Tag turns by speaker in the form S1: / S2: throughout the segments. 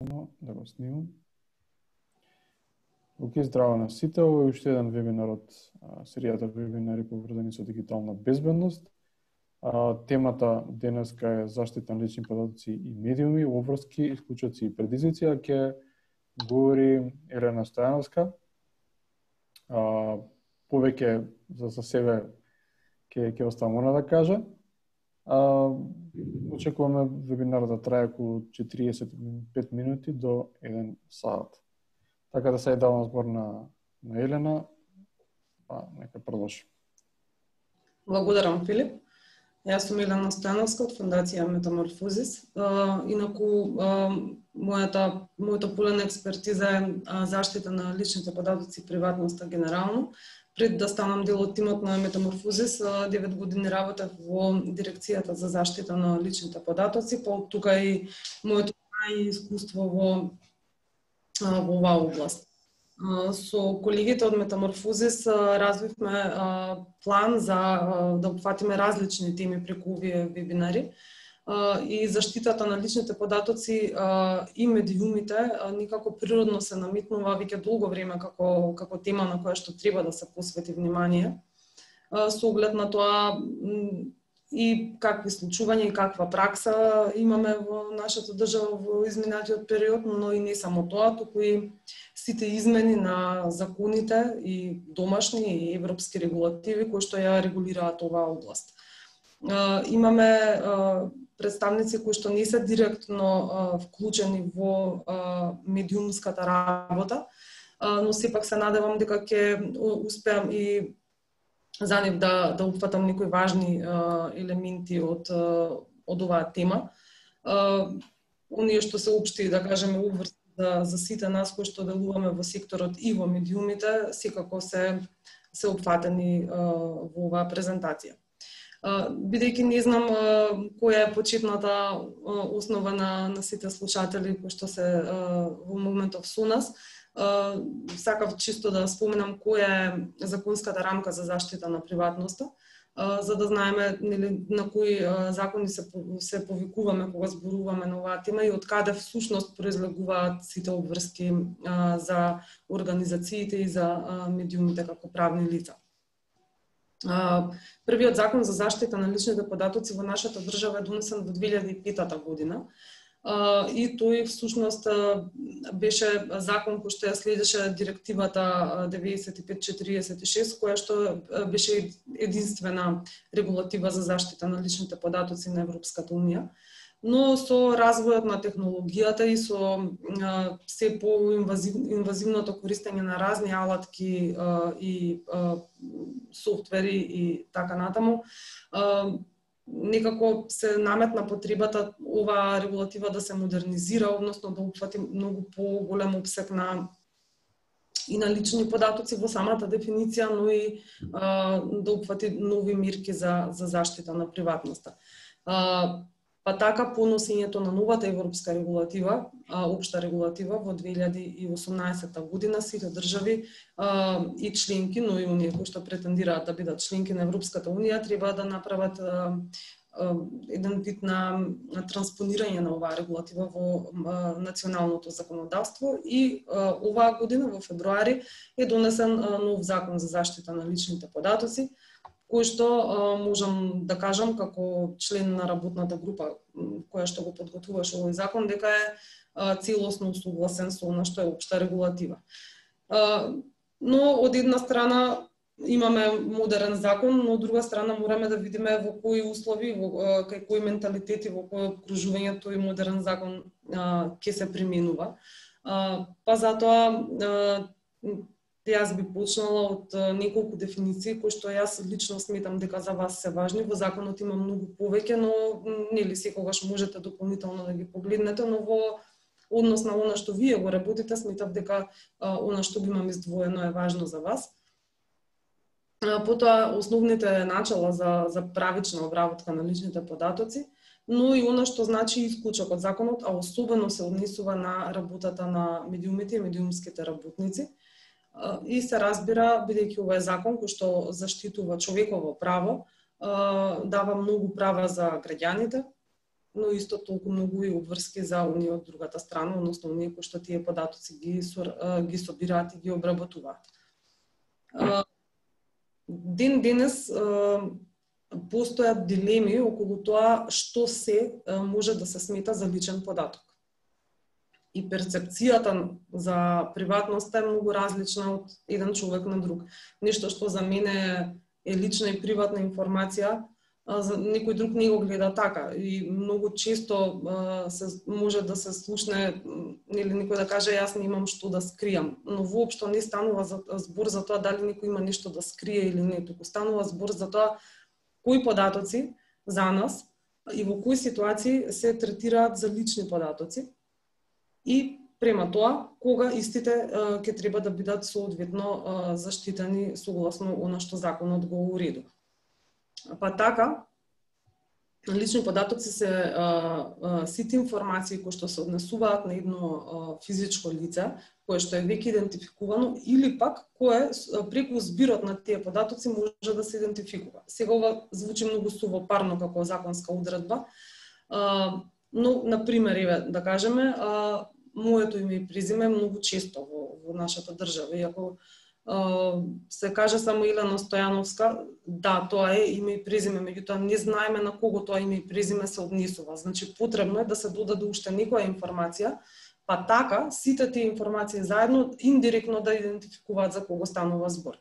S1: Да го снимам. Океј, здраво на сите. Ово е уште еден вебинар од серијата вебинари поврзани со дигитална безбедност. Темата денеска е заштита на лични податоци и медиуми, обврски, исклучоци и предизвици, а ќе говори Елена Стојановска. Повеќе за себе ќе оставам она да каже. Очекуваме вебинарот да трае околу 45 минути до 1 сат. Така да сега давам збор на Елена. Нека продолжи.
S2: Благодарам, Филип. Јас сум Елена Стојановска од Фондација Метаморфозис. Инаку, моето поле на експертиза е заштита на личните податоци и приватноста генерално. Пред да станам дел од тимот на Метаморфозис, 9 години работев во дирекцијата за заштита на личните податоци, па тука и моето искуство во оваа област. Со колегите од Метаморфозис развивме план за да опфатиме различни теми преку овие вебинари и заштитата на личните податоци и медиумите никако природно се намитнува веќе долго време како тема на која што треба да се посвети внимание со оглед на тоа и какви случувања и каква пракса имаме во нашата држава во изминатиот период, но и не само тоа, туку и сите измени на законите и домашни и европски регулативи кои што ја регулираат оваа област. Имаме представници кои што не се директно вклучени во медиумската работа, но сепак се надевам дека ќе успеам и за нив да опфатам некои важни елементи од оваа тема. Оние што се општи, да кажеме, обврски за сите нас кои што делуваме во секторот и во медиумите, секако се опфатени во оваа презентација. Бидејќи не знам која е почетната основа на сите слушатели кои што се во моментов со нас, сакав чисто да споменам која е законската рамка за заштита на приватноста, за да знаеме на кои закони се повикуваме кога зборуваме на оваа тема и од каде всушност произлегуваат сите обврски за организациите и за медиумите како правни лица. Првиот закон за заштита на личните податоци во нашата држава е донесен во 2005 година. И тој всушност беше закон кој што ја следеше директивата 9546, која што беше единствена регулатива за заштита на личните податоци на Европската унија. Но со развојот на технологијата и со се по-инвазивното користење на разни алатки и софтвери и така натаму, некако се наметна потребата оваа регулатива да се модернизира, односно да опфати многу поголем опсег на лични податоци во самата дефиниција, но и да опфати нови мерки за заштита на приватноста. Па така, по носењето на новата европска регулатива, општа регулатива во 2018 година, сите држави и членки, но и оние кои што претендираат да бидат членки на Европската унија, треба да направат еден вид на транспонирање на оваа регулатива во националното законодавство и оваа година во февруари е донесен нов закон за заштита на личните податоци, кој што можам да кажам како член на работната група која што го подготвуваше овој закон, дека е целосно согласен со она што е општа регулатива. Но од една страна имаме модерен закон, но од друга страна мораме да видиме во кои услови, кај кои менталитети, во кој окружување тој модерен закон ќе се применува. Па затоа јас би почнала од неколку дефиниции кои што јас лично сметам дека за вас се важни. Во законот има многу повеќе, но нели секогаш можете дополнително да ги погледнете, но во однос на она што вие го работите, сметав дека она што го имам издвоено е важно за вас. Потоа основните начала за правична обработка на личните податоци, но и она што значи исклучок од законот, а особено се однесува на работата на медиумите и медиумските работници. И се разбира, бидејќи ова е закон кој што заштитува човеково право, дава многу права за граѓаните, но исто толку многу и обврски за оние од другата страна, односно оние кои што тие податоци ги собираат и ги обработуваат. Ден денес постојат дилеми околу тоа што се може да се смета за личен податок. И перцепцијата за приватноста е многу различна од еден човек на друг. Нешто што за мене е лична и приватна информација, за некој друг не го гледа така. И многу често може да се слушне, или некој да каже јас немам што да скријам, но воопшто не станува збор за тоа дали некој има нешто да скрие или не, туку станува збор за тоа кои податоци за нас и во кои ситуации се третираат за лични податоци и према тоа кога истите ќе треба да бидат соодветно заштитени согласно она што законот го уредува. Па така, лични податоци се сите информации кои што се однесуваат на едно физичко лице, кое што е веќе идентификувано, или пак кое преку збирот на тие податоци може да се идентификува. Сега ова звучи многу сувопарно како законска одредба, но, например, еве, да кажеме, моето име и презиме многу често во нашата држава, иако се каже само Илена Стојановска, да, тоа е име и презиме, меѓутоа не знаеме на кого тоа име и презиме се однесува. Значи, потребно е да се додаде уште некоја информација, па така, сите тие информации заедно индиректно да идентификуваат за кого станува збор.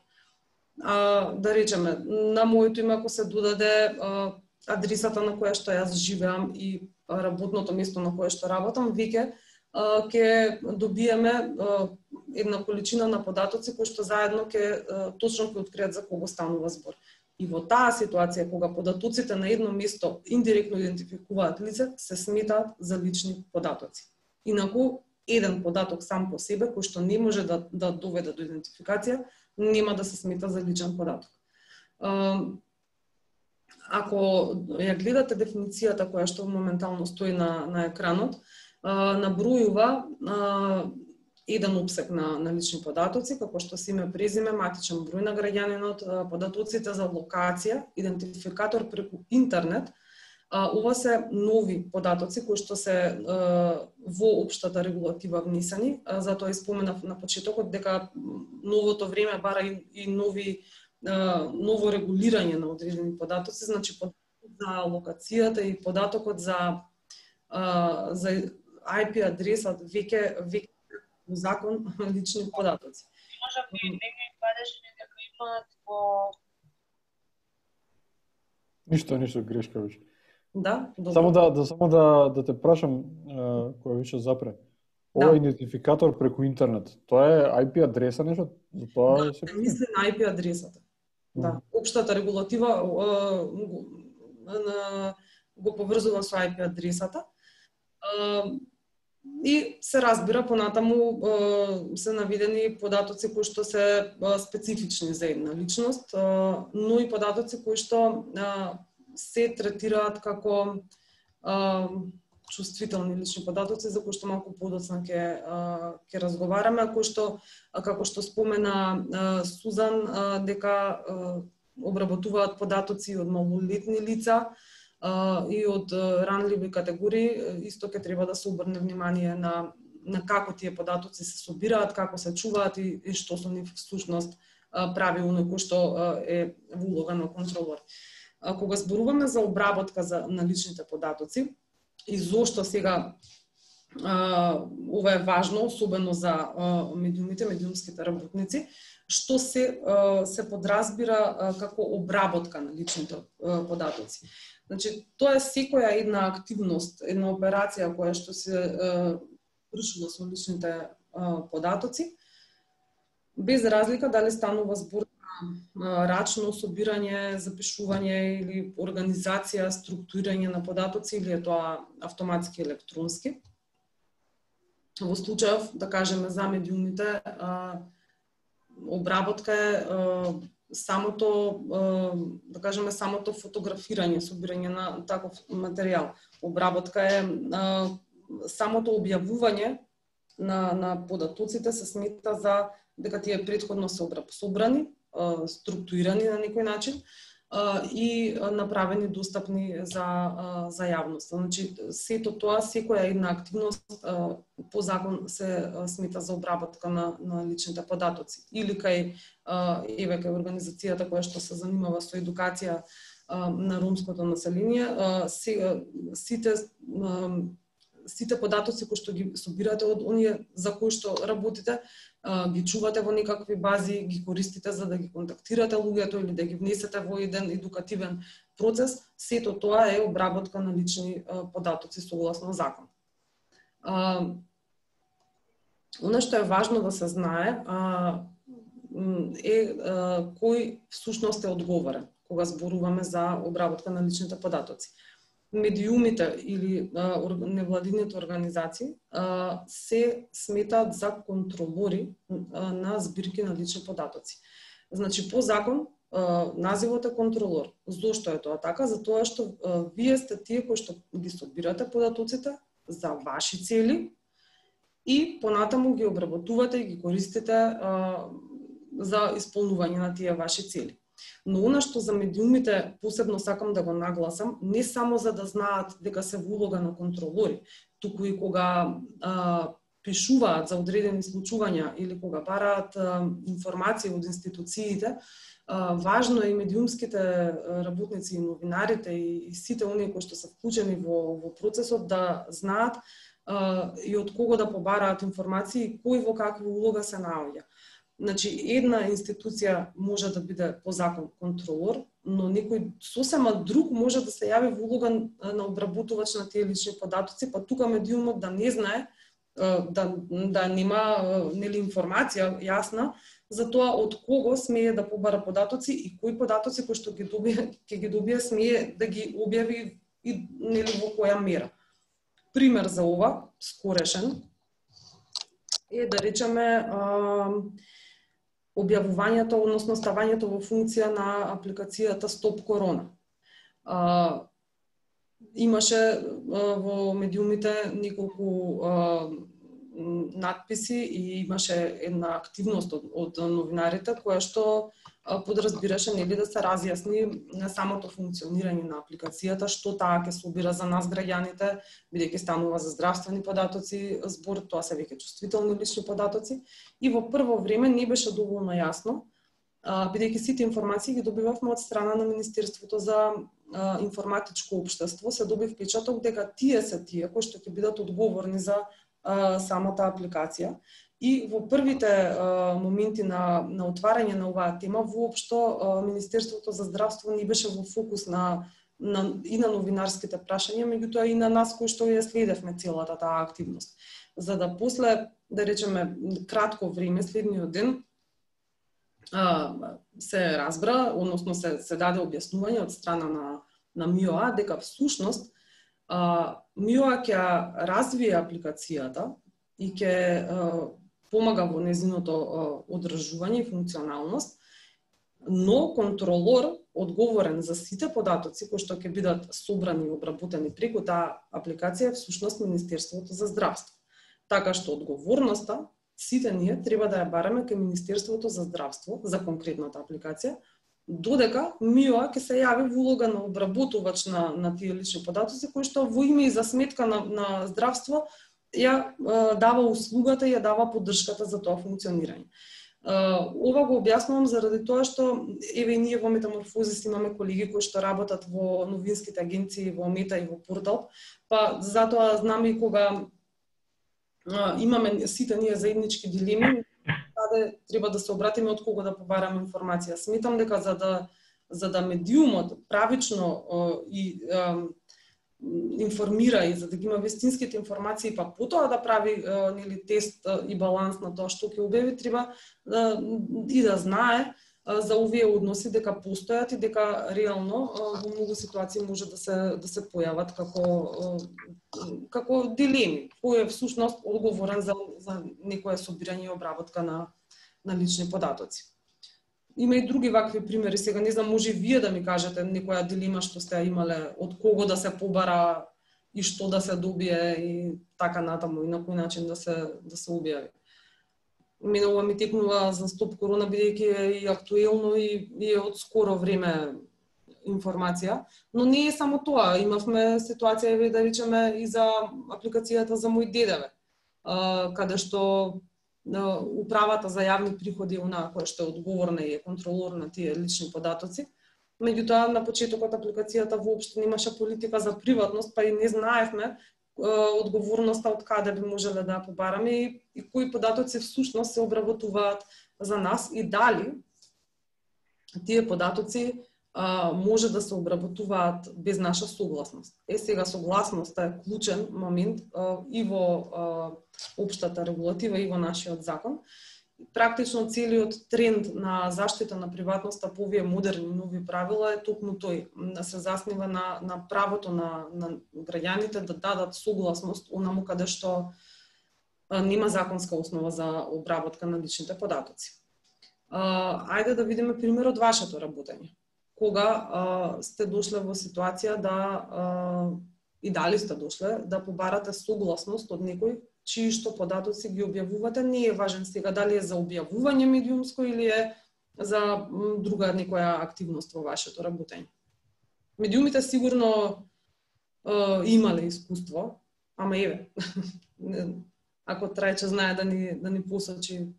S2: Да речеме, на моето име ако се додаде адресата на која што јас живеам и работното место на кое што работам, веќе ќе добиеме една количина на податоци кои што заедно точно ќе откријат за кого станува збор. И во таа ситуација, кога податоците на едно место индиректно идентификуваат лице, се сметаат за лични податоци. Инаку, еден податок сам по себе, кој што не може да доведе до идентификација, нема да се смета за личен податок. Ако ја гледате дефиницијата која што моментално стои на екранот, набројува еден опсек на лични податоци, како што се име, презиме, матичен број на граѓанинот, податоците за локација, идентификатор преку интернет. Ова се нови податоци кои што се во општата регулатива внесени, затоа споменав на почетокот дека новото време бара и ново регулирање на одредени податоци, значи податокот за локацијата и податокот за IP адресат веќе во закон лични податоци.
S3: Може би не ги падеш дека имаат во
S1: Ништо грешка више.
S2: Да, добро.
S1: Само да те прашам, која више запре. Ова е идентификатор преку интернет. Тоа е IP адреса нешто? За тоа
S2: се мисли на IP адресата. Да, општата регулатива го поврзува со IP адресата. И се разбира понатаму се наведени податоци кои што се специфични за една личност, но и податоци кои што се третираат како чувствителни лични податоци, за кои што малку подоцна ќе разговараме, кои што, како што спомена Сузан, дека обработуваат податоци од малолетни лица и од ранливи категории, исто ќе треба да се обрне внимание на како тие податоци се собираат, како се чуваат и што со нив всушност прави оној кој што е во улога на контролор. Кога зборуваме за обработка на личните податоци и зошто сега ова е важно, особено за медиумите, медиумските работници, што се подразбира како обработка на личните податоци. Значи, тоа е секоја една активност, една операција која што се вршува со личните податоци, без разлика дали станува збор на рачно собирање, запишување или организација, структурирање на податоци или е тоа автоматски електронски. Во случајов, да кажеме, за медиумите, обработка е самото, да кажеме, самото фотографирање, собирање на таков материјал. Обработка е самото објавување на податоците се смета за дека тие претходно се собрани, структурирани на некој начин и направени достапни за јавноста. Значи, сето тоа, секоја една активност по закон се смета за обработка на личните податоци. Или кај организацијата која што се занимава со едукација на ромското население, сите податоци кои што ги собирате од оние за кои што работите, ги чувате во некакви бази, ги користите за да ги контактирате луѓето или да ги внесете во еден едукативен процес, сето тоа е обработка на лични податоци согласно закон. Оно што е важно да се знае е кој всушност е одговорен кога зборуваме за обработка на личните податоци. Медиумите или невладините организации се сметаат за контролори на збирки на лични податоци. Значи, по закон, називот е контролор. Зошто е тоа така? Затоа што вие сте тие кои што ги собирате податоците за ваши цели и понатаму ги обработувате и ги користите за исполнување на тие ваши цели. Но она што за медиумите посебно сакам да го нагласам, не само за да знаат дека се во улога на контролори, туку и кога пишуваат за одредени случувања или кога бараат информации од институциите, важно е и медиумските работници и новинарите и сите оние кои што се вклучени во процесот да знаат и од кого да побараат информации и кој во каква улога се наоѓа. Значи, една институција може да биде по закон контролор, но некој сосема друг може да се јави во улога на обработувач на тие лични податоци, па тука медиумот да не знае, да нема нели информација јасна за тоа од кого смее да побара податоци и кои податоци кои што ќе ги добие смее да ги објави и нели во која мера. Пример за ова, скорешен, е да речеме објавувањето, односно ставањето во функција на апликацијата Стоп Корона. Имаше во медиумите неколку надписи и имаше една активност од новинарите која што подразбираше нели да се разјасни на самото функционирање на апликацијата, што таа ќе собира за нас граѓаните, бидејќи станува за здравствени податоци збор, тоа се веќе чувствителни лични податоци. И во прво време не беше доволно јасно, бидејќи сите информации ги добивавме од страна на Министерството за информатичко општество, се доби впечаток дека тие се тие кои што ќе бидат одговорни за самата апликација. И во првите моменти на отварање на оваа тема, воопшто Министерството за здравство не беше во фокус и на новинарските прашања, меѓутоа и на нас кои што ја следевме целата таа активност. За да после, да речеме, кратко време, следниот ден, се разбра, односно се даде објаснување од страна на МИОА дека всушност МИОА ќе развие апликацијата и ќе помага во незиното одржување и функционалност, но контролор одговорен за сите податоци кои што ќе бидат собрани и обработени преку таа апликација е всушност Министерството за здравство. Така што одговорноста сите ние треба да ја бараме кај Министерството за здравство за конкретната апликација, додека МИОА ќе се јави во улога на обработувач на тие лични податоци кои што во име и за сметка на здравство ја дава услугата и ја дава поддршката за тоа функционирање. Ова го објаснувам заради тоа што еве и ние во Метаморфозис имаме колеги кои што работат во новинските агенции, во Мета и во Портал, па затоа знаме и кога имаме сите ние заеднички дилеми, каде треба да се обратиме од кого да побараме информација. Сметам дека за да медиумот правично и информира и за да ги има вистинските информации, па потоа да прави нели тест и баланс на тоа што ќе објави, треба и да знае за овие односи дека постојат и дека реално во многу ситуации може да се појават како дилеми. Кој е всушност одговорен за некое собирање и обработка на лични податоци. Има и други вакви примери. Сега не знам, може и вие да ми кажете некоја дилема што сте имале, од кого да се побара и што да се добие и така натаму и на кој начин да се објави. Мене ова ми текнува за Стоп Корона, бидејќи е и актуелно и е од скоро време информација, но не е само тоа. Имавме ситуација, да речеме, и за апликацијата за Мој ДДВ, каде што управата за јавни приходи, она која што е одговорна и е контролор на тие лични податоци, меѓутоа на почетокот апликацијата воопшто немаше политика за приватност, па и не знаевме одговорноста од каде би можеле да побараме и кои податоци всушност се обработуваат за нас и дали тие податоци може да се обработуваат без наша согласност. Сега согласноста е клучен момент и во општата регулатива и во нашиот закон. Практично целиот тренд на заштита на приватноста по овие модерни нови правила е токму тој, да се заснива на правото на граѓаните да дадат согласност онаму каде што нема законска основа за обработка на личните податоци. Ајде да видиме пример од вашето работење. Кога сте дошле во ситуација и дали сте дошле да побарате согласност од некој чии што податоци ги објавувате, не е важен сега дали е за објавување медиумско или е за друга некоја активност во вашето работење. Медиумите сигурно имале искуство, ама еве, ако Трајче знае да ни посочи,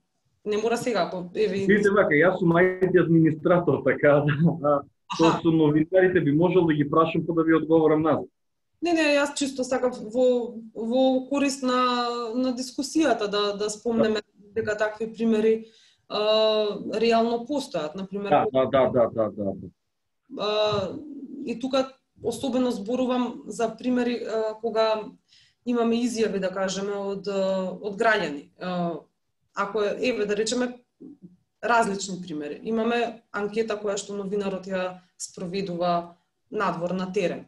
S2: не мора сега, ако еве...
S4: Видите вака, јас сум IT администратор, така да со новинарите би можел да ги прашам па да ви одговорам назад.
S2: Не, јас чисто сакав во корист на дискусијата да спомнеме дека такви примери реално постојат, например.
S4: Да.
S2: И тука особено зборувам за примери кога имаме изјави, да кажеме, од граѓани. Ако еве да речеме различни примери. Имаме анкета која што новинарот ја спроведува надвор на терен.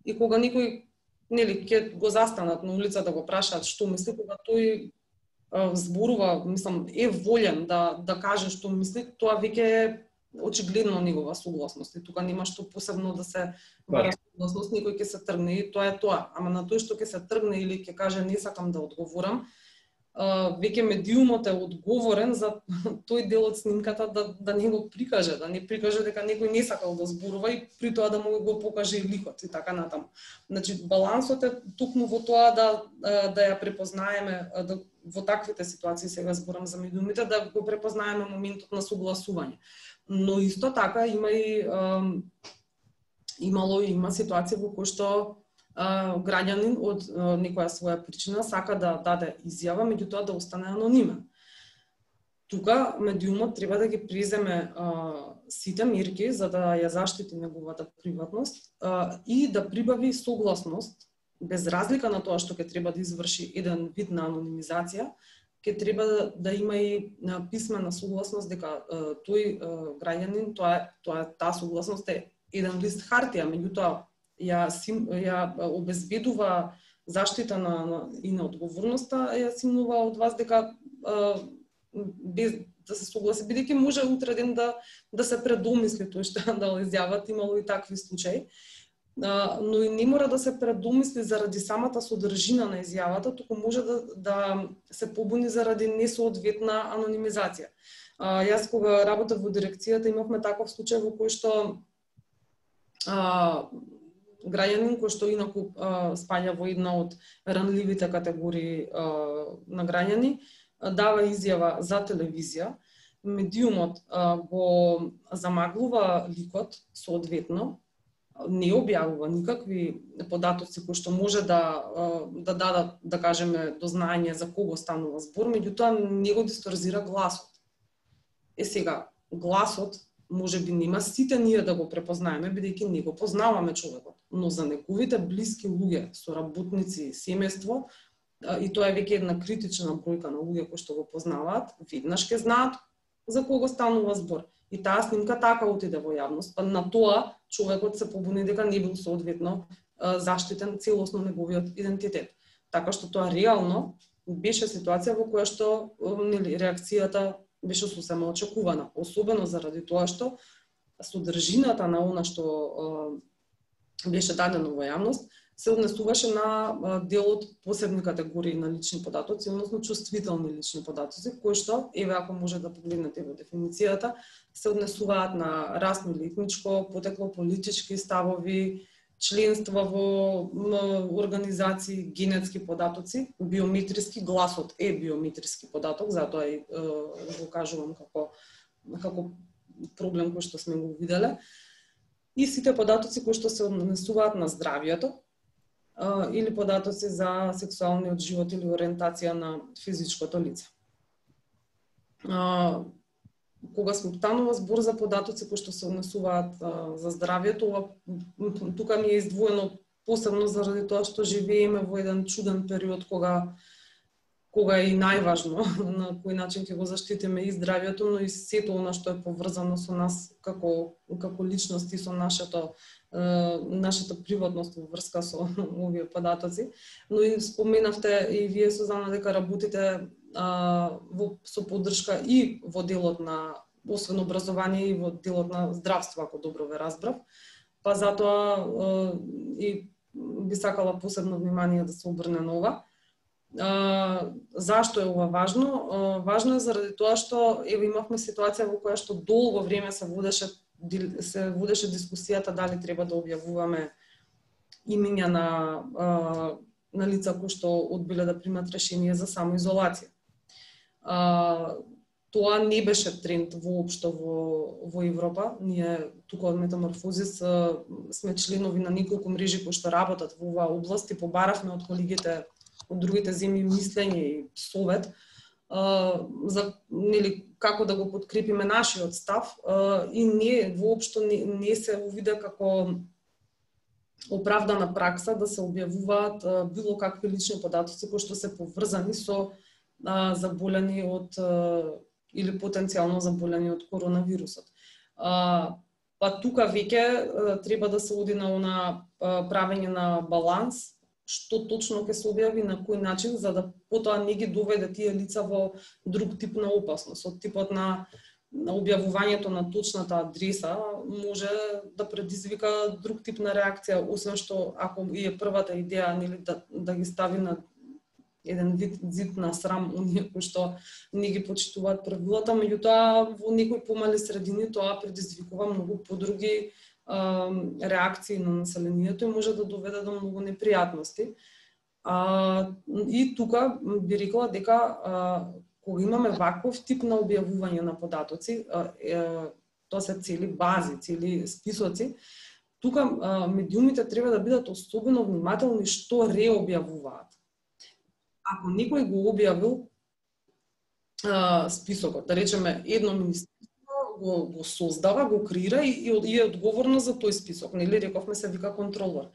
S2: И кога никој ќе го застанат на улица да го прашаат што мисли, кога тој зборува, мислам, е волен да каже што мисли, тоа веќе е очигледно негова согласност. И тука нема што посебно да се бара согласност, некој ќе се тргне и тоа е тоа. Ама на тој што ќе се тргне или ќе каже не сакам да одговорам, веќе медиумот е одговорен за тој дел од снимката да не го прикаже, да не прикаже дека некој не сакал да зборува и при тоа да му го покаже и ликот и така натаму. Значи балансот е токму во тоа да ја препознаеме во таквите ситуации, сега зборам за медиумите, да го препознаеме моментот на согласување. Но исто така има ситуација во кој што граѓанин од некоја своја причина сака да даде изјава, меѓутоа да остане анонимен. Тука медиумот треба да ги преземе сите мерки за да ја заштити неговата приватност и да прибави согласност, без разлика на тоа што ќе треба да изврши еден вид на анонимизација, ќе треба да има и писмена согласност дека тој граѓанин, таа согласност е еден лист хартија, меѓутоа ја обезбедува заштита и на одговорноста, ја симнува од вас дека без да се согласи, бидејќи може утре ден да се предомисли тој што да изјават, имало и такви случаи. Но и не мора да се предомисли заради самата содржина на изјавата, туку може да се побуни заради несоодветна анонимизација. Јас кога работев во дирекцијата имавме таков случај во кој што граѓанин кој што инаку спаѓа во една од ранливите категории на граѓани, дава изјава за телевизија, медиумот го замаглува ликот соодветно, не објавува никакви податоци кои што може да дадат, да кажеме, дознање за кого станува збор, меѓутоа не го дисторзира гласот. Сега, гласот може би нема сите ние да го препознаеме, бидејќи не го познаваме човекот, но за неговите блиски луѓе, соработници, семејство, и тоа е веќе една критична бројка на луѓе кои што го познаваат, веднаш ќе знаат за кого станува збор. И таа снимка така отиде во јавност, па на тоа човекот се побуни дека не бил соодветно заштитен целосно неговиот идентитет. Така што тоа реално беше ситуација во која што реакцијата беше сосема очекувана, особено заради тоа што содржината на она што беше дадено во јавност се однесуваше на дел од посебни категории на лични податоци, односно чувствителни лични податоци, кои што, еве ако може да погледнете во дефиницијата, се однесуваат на расно или етничко потекло, политички ставови, членство во организации, генетски податоци, биометриски, гласот е биометриски податок, затоа и го кажувам како проблем кој што сме го виделе. И сите податоци кои што се однесуваат на здравието или податоци за сексуалниот живот или ориентација на физичкото лице. Кога станува збор за податоци кои што се однесуваат за здравието, тука ми е издвоено посебно заради тоа што живееме во еден чуден период кога е и најважно на кој начин ќе го заштитиме и здравието, но и сето она што е поврзано со нас како личности, со нашата приватност во врска со овие податоци. Но и споменавте и вие, Сузана, дека работите со поддршка и во делот на освен образование и во делот на здравство, ако добро ве разбрав. Па затоа и би сакала посебно внимание да се обрне на ова. Зашто е ова важно? Важно е заради тоа што имавме ситуација во која што долго време се водеше дискусијата дали треба да објавуваме имиња на лица кои што одбиле да примат решение за самоизолација. Тоа не беше тренд воопшто во Европа. Ние тука од Метаморфозис сме членови на неколку мрежи кои што работат во оваа област и побаравме од колегите од другите земји мислење и совет за како да го подкрепиме нашиот став и не воопшто не се увиде како оправдана пракса да се објавуваат било какви лични податоци кои што се поврзани со заболени од или потенцијално заболени од коронавирусот. Па тука веќе треба да се оди на правење на баланс, што точно ќе се објави, на кој начин, за да потоа не ги доведе тие лица во друг тип на опасност. Од типот на објавувањето на точната адреса може да предизвика друг тип на реакција, освен што ако и е првата идеја да ги стави на еден вид зид на срам оние кои што не ги почитуваат правилата, меѓутоа во некои помали средини тоа предизвикува многу подруги реакции на населението и може да доведе до многу непријатности. И тука би рекла дека кога имаме ваков тип на објавување на податоци, тоа се цели бази, цели списоци, тука медиумите треба да бидат особено внимателни што реобјавуваат. Ако некој го објавил списокот, да речеме едно министерство го создава, го креира и е одговорно за тој список, нели рековме се вика контролор.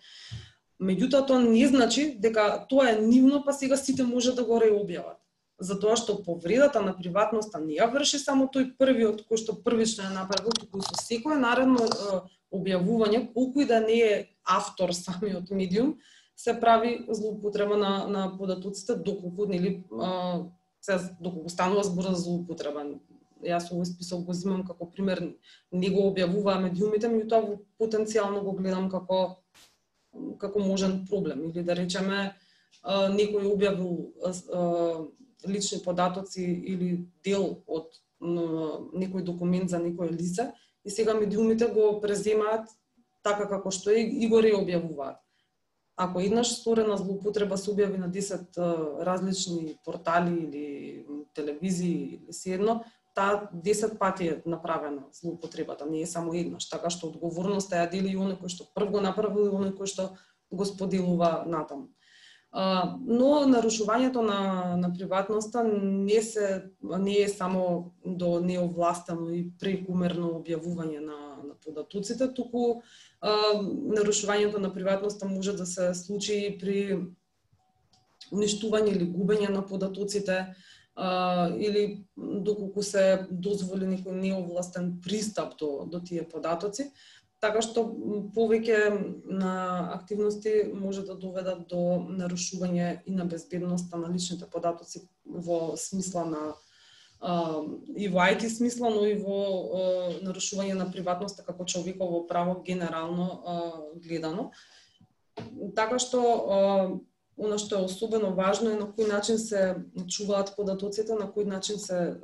S2: Меѓутоа тоа не значи дека тоа е нивно, па сега сите може да го реобјават. Затоа што повредата на приватноста не ја врши само тој првиот кој што првично ја направил, туку со секое наредно објавување, колку и да не е автор самиот медиум, се прави злоупотреба на податоците доколку станува збор за злоупотреба. Јас овој список го земам како пример, не го објавуваа медиумите, меѓутоа потенцијално го гледам како можен проблем. Или да речеме, некој објавил лични податоци или дел од некој документ за некој лице и сега медиумите го преземаат така како што е и го реобјавуваат. Ако еднаш сторена злоупотреба се објави на 10 различни портали или телевизии или седно, таа 10 пати е направена злоупотребата, не е само еднаш, така што одговорноста ја дели и оној кој што прв го направил и оној кој што го споделува натаму. Но нарушувањето на приватноста не е само до неовластено и прекумерно објавување на податоците, туку нарушувањето на приватноста може да се случи при уништување или губење на податоците, или доколку се дозволи некој неовластен пристап до тие податоци, така што повеќе на активности може да доведат до нарушување и на безбедноста на личните податоци во смисла на и во IT смисла, но и во нарушување на приватноста како човеково право генерално гледано. Така што она што е особено важно е на кој начин се чуваат податоците, на кој начин се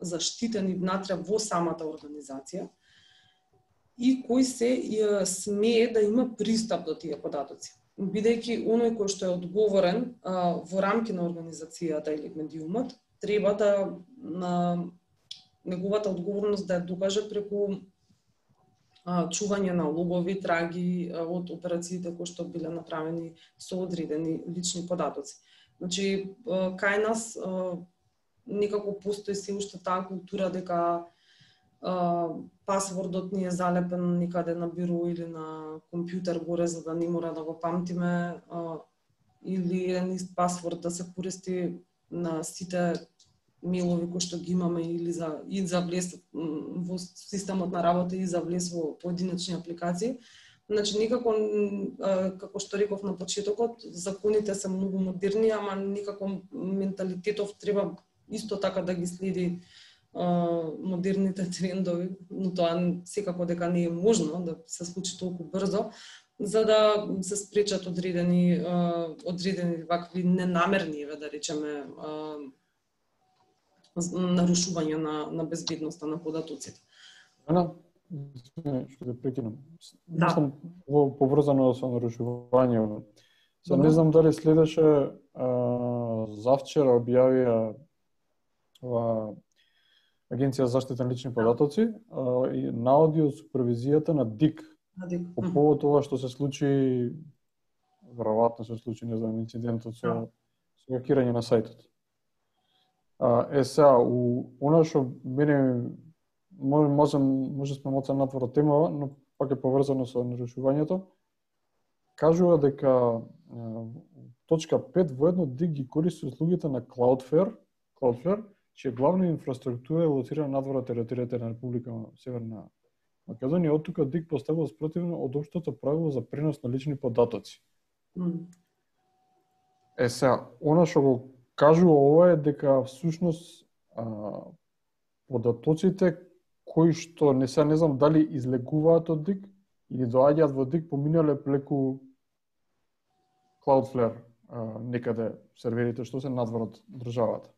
S2: заштитени внатре во самата организација и кој се смее да има пристап до тие податоци. Бидејќи оној кој што е одговорен во рамки на организацијата или медиумот, треба да на неговата одговорност да ја докаже преку чување на логови траги од операциите кои што биле направени со одредени лични податоци. Значи, кај нас некако постои се уште таа култура дека пасвордот ни е залепен никаде на биро или на компјутер горе за да не мора да го памтиме, или еден ист пасворд да се користи на сите мејлови кои што ги имаме или за влез во системот на работа и за влез во поединечни апликации. Значи никако, како што реков на почетокот, законите се многу модерни, ама никако менталитетов треба исто така да ги следи модерните трендови, но тоа секако дека не е можно да се случи толку брзо, за да се спречат одредени вакви ненамерни, да речеме, нарушување на безбедноста на податоците.
S1: Што да прекинам.
S2: Да.
S1: Мислам поврзано со нарушување. Се не знам дали следеше завчера објавија Агенција за заштита на лични податоци на аудио супервизијата на ДИК. По повод тоа што се случи, веројатно се случи, не знам, инцидентот со хакирање на сајтот. Сега, она што мене може сме моцен натвора тема, но пак е поврзано со нарушувањето. Кажува дека точка 5 воедно ДИК ги користи услугите на Cloudflare, чија главна инфраструктура е лоцирана надвор од територијата на Република Северна Македонија. Од тука ДИК поставува спротивно од општото правило за пренос на лични податоци. Сега, она што го кажува ова е дека всушност податоците кои што не знам дали излегуваат од ДИК или доаѓаат во ДИК поминале преку Cloudflare, некаде серверите што се надвор од државата.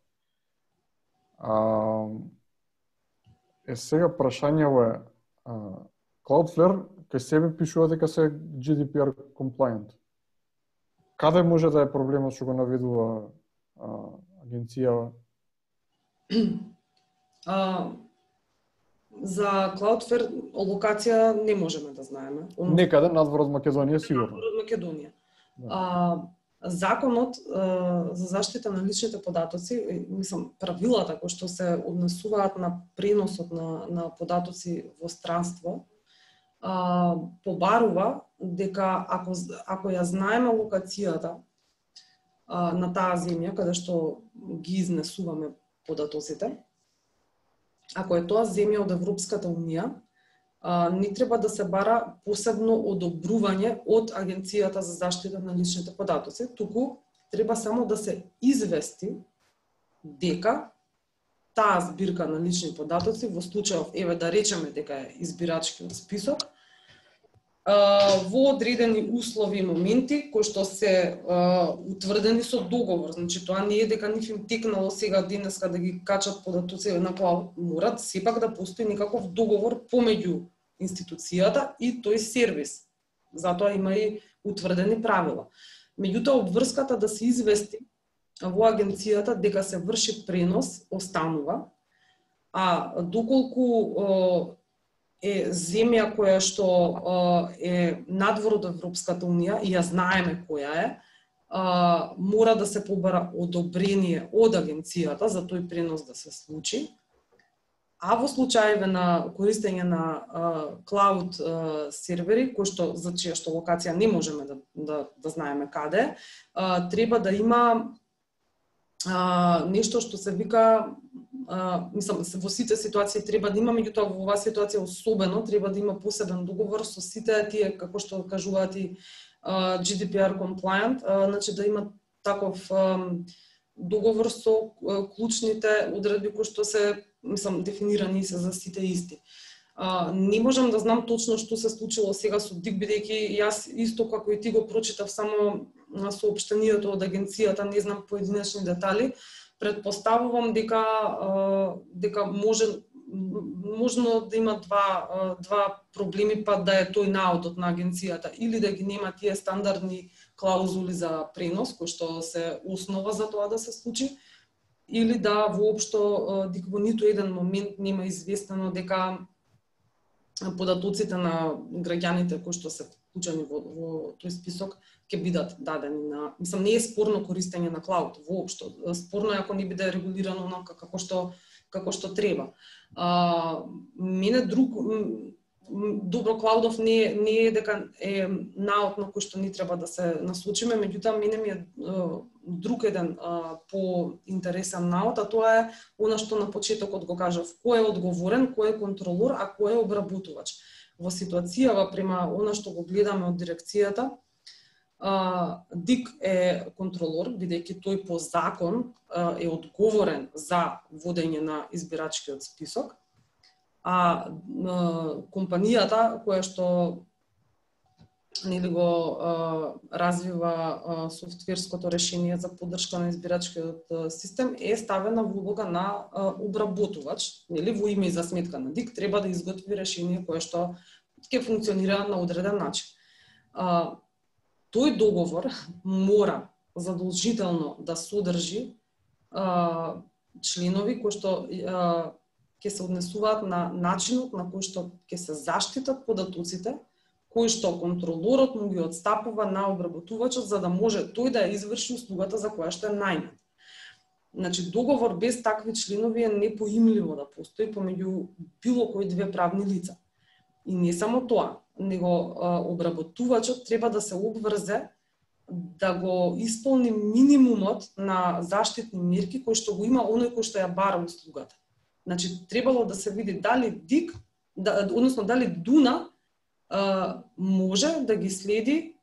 S1: Сега прашањето е Cloudflare кај себе пишува дека се GDPR compliant. Каде може да е проблемот што го наведува агенција?
S2: За Cloudflare локација не можеме да знаеме.
S1: Некаде надвор од Македонија сигурно.
S2: Надвор од Македонија. Законот за заштита на личните податоци, мислам, правилата кои што се однесуваат на преносот на податоци во странство, побарува дека ако ја знаеме локацијата на таа земја каде што ги изнесуваме податоците, ако е тоа земја од Европската унија, не треба да се бара посебно одобрување од Агенцијата за заштита на личните податоци, туку треба само да се извести дека таа збирка на лични податоци, во случајов, еве да речеме дека е избирачкиот список, во одредени услови и моменти кои што се утврдени со договор. Значи тоа не е дека нив им текнало сега денеска да ги качат податоци на клауд, морат сепак да постои некаков договор помеѓу институцијата и тој сервис. Затоа има и утврдени правила. Меѓутоа обврската да се извести во агенцијата дека се врши пренос останува, а доколку е земја која што е надвор од Европската унија и ја знаеме која е, мора да се побара одобрение од агенцијата за тој пренос да се случи. А во случаеве на користење на клауд сервери, кои што за чија што локација не можеме да знаеме каде, треба да има нешто што се вика, мислам, во сите ситуации треба да има, меѓутоа во оваа ситуација особено треба да има посебен договор со сите тие, како што кажуваат и GDPR compliant, значи да има таков договор со клучните одредби кои што се, мислам, дефинирани се за сите исти. Не можам да знам точно што се случило сега со ДИК, бидејќи јас исто како и ти го прочитав само соопштението од агенцијата, не знам поединечни детали. Предпоставувам дека можно да има два проблеми, па да е тој наодот на агенцијата, или да ги нема тие стандардни клаузули за пренос, кои што се основа за тоа да се случи, или да воопшто дека во ниту еден момент нема известено дека податоците на граѓаните кои што се вклучени во тој список ќе бидат дадени на... Мислам, не е спорно користење на клауд воопшто. Спорно е ако не биде регулирано онака како што треба. Мене добро клаудов не е дека е наод на кој што ни треба да се насочиме, меѓутоа мене ми е друг еден по-интересен наод, а тоа е она што на почетокот го кажав, кој е одговорен, кој е контролор, а кој е обработувач. Во ситуацијава према она што го гледаме од дирекцијата, ДИК е контролор, бидејќи тој по закон е одговорен за водење на избирачкиот список, а компанијата која што нели го развива софтверското решение за поддршка на избирачкиот систем е ставена во улога на обработувач, нели во име и за сметка на ДИК треба да изготви решение кое што ќе функционира на одреден начин. Тој договор мора задолжително да содржи членови кои што ќе се однесуваат на начинот на кој што ќе се заштитат податоците, кој што контролорот му ги отстапува на обработувачот за да може тој да изврши услугата за која што е најман. Значи, договор без такви членови е непоимливо да постои помеѓу било кои две правни лица. И не само тоа, него обработувачот треба да се обврзе да го исполни минимумот на заштитни мерки кои што го има оној кој што ја бара услугата. Значи, требало да се види дали ДИК, односно дали ДУНА може да ги следи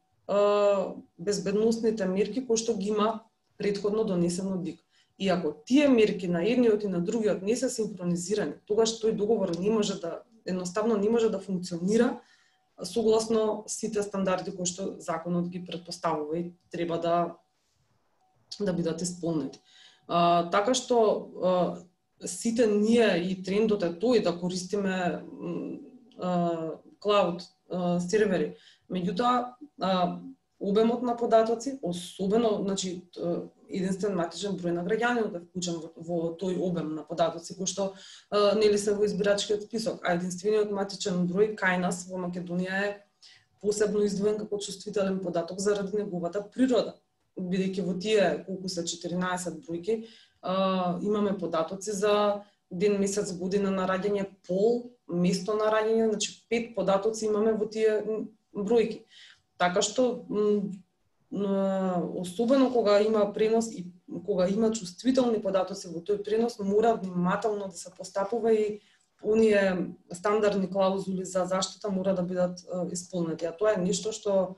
S2: безбедносните мерки кои што ги има претходно донесено ДИК. И ако тие мерки на едниот и на другиот не се синхронизирани, тогаш тој договор едноставно не може да функционира согласно сите стандарди кои што законот ги претпоставува и треба да бидат исполнети. Така што сите ние и трендот е тој да користиме клауд сервери. Меѓутоа, обемот на податоци, особено, значи, единствен матичен број на граѓанинот е вклучен во тој обем на податоци кои што нели се во избирачкиот список, а единствениот матичен број кај нас во Македонија е посебно издвоен како чувствителен податок заради неговата природа. Бидејќи во тие колку се 14 бројки имаме податоци за ден, месец, година на раѓање, пол, место на раѓање, значи 5 податоци имаме во тие бројки. Така што особено кога има пренос и кога има чувствителни податоци во тој пренос, мора внимателно да се постапува и оние стандардни клаузули за заштита мора да бидат исполнети. А тоа е нешто што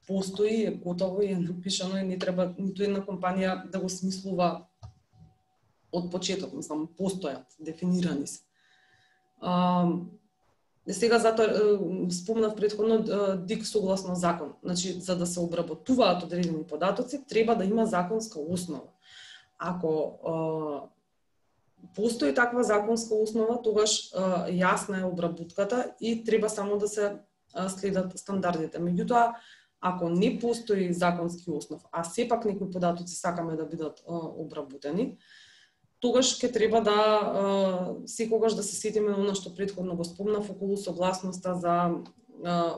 S2: постои, е готово и е напишано и не треба ниту една компанија да го смислува од почеток, мислам, постојат, дефинирани се. Сега затоа спомнав претходно ДИК согласно закон. Значи, за да се обработуваат одредени податоци, треба да има законска основа. Ако постои таква законска основа, тогаш јасна е обработката и треба само да се следат стандардите. Меѓутоа, ако не постои законски основ, а сепак некои податоци сакаме да бидат обработени, тогаш ќе треба да секогаш да се сетиме на она што претходно го спомнав околу согласноста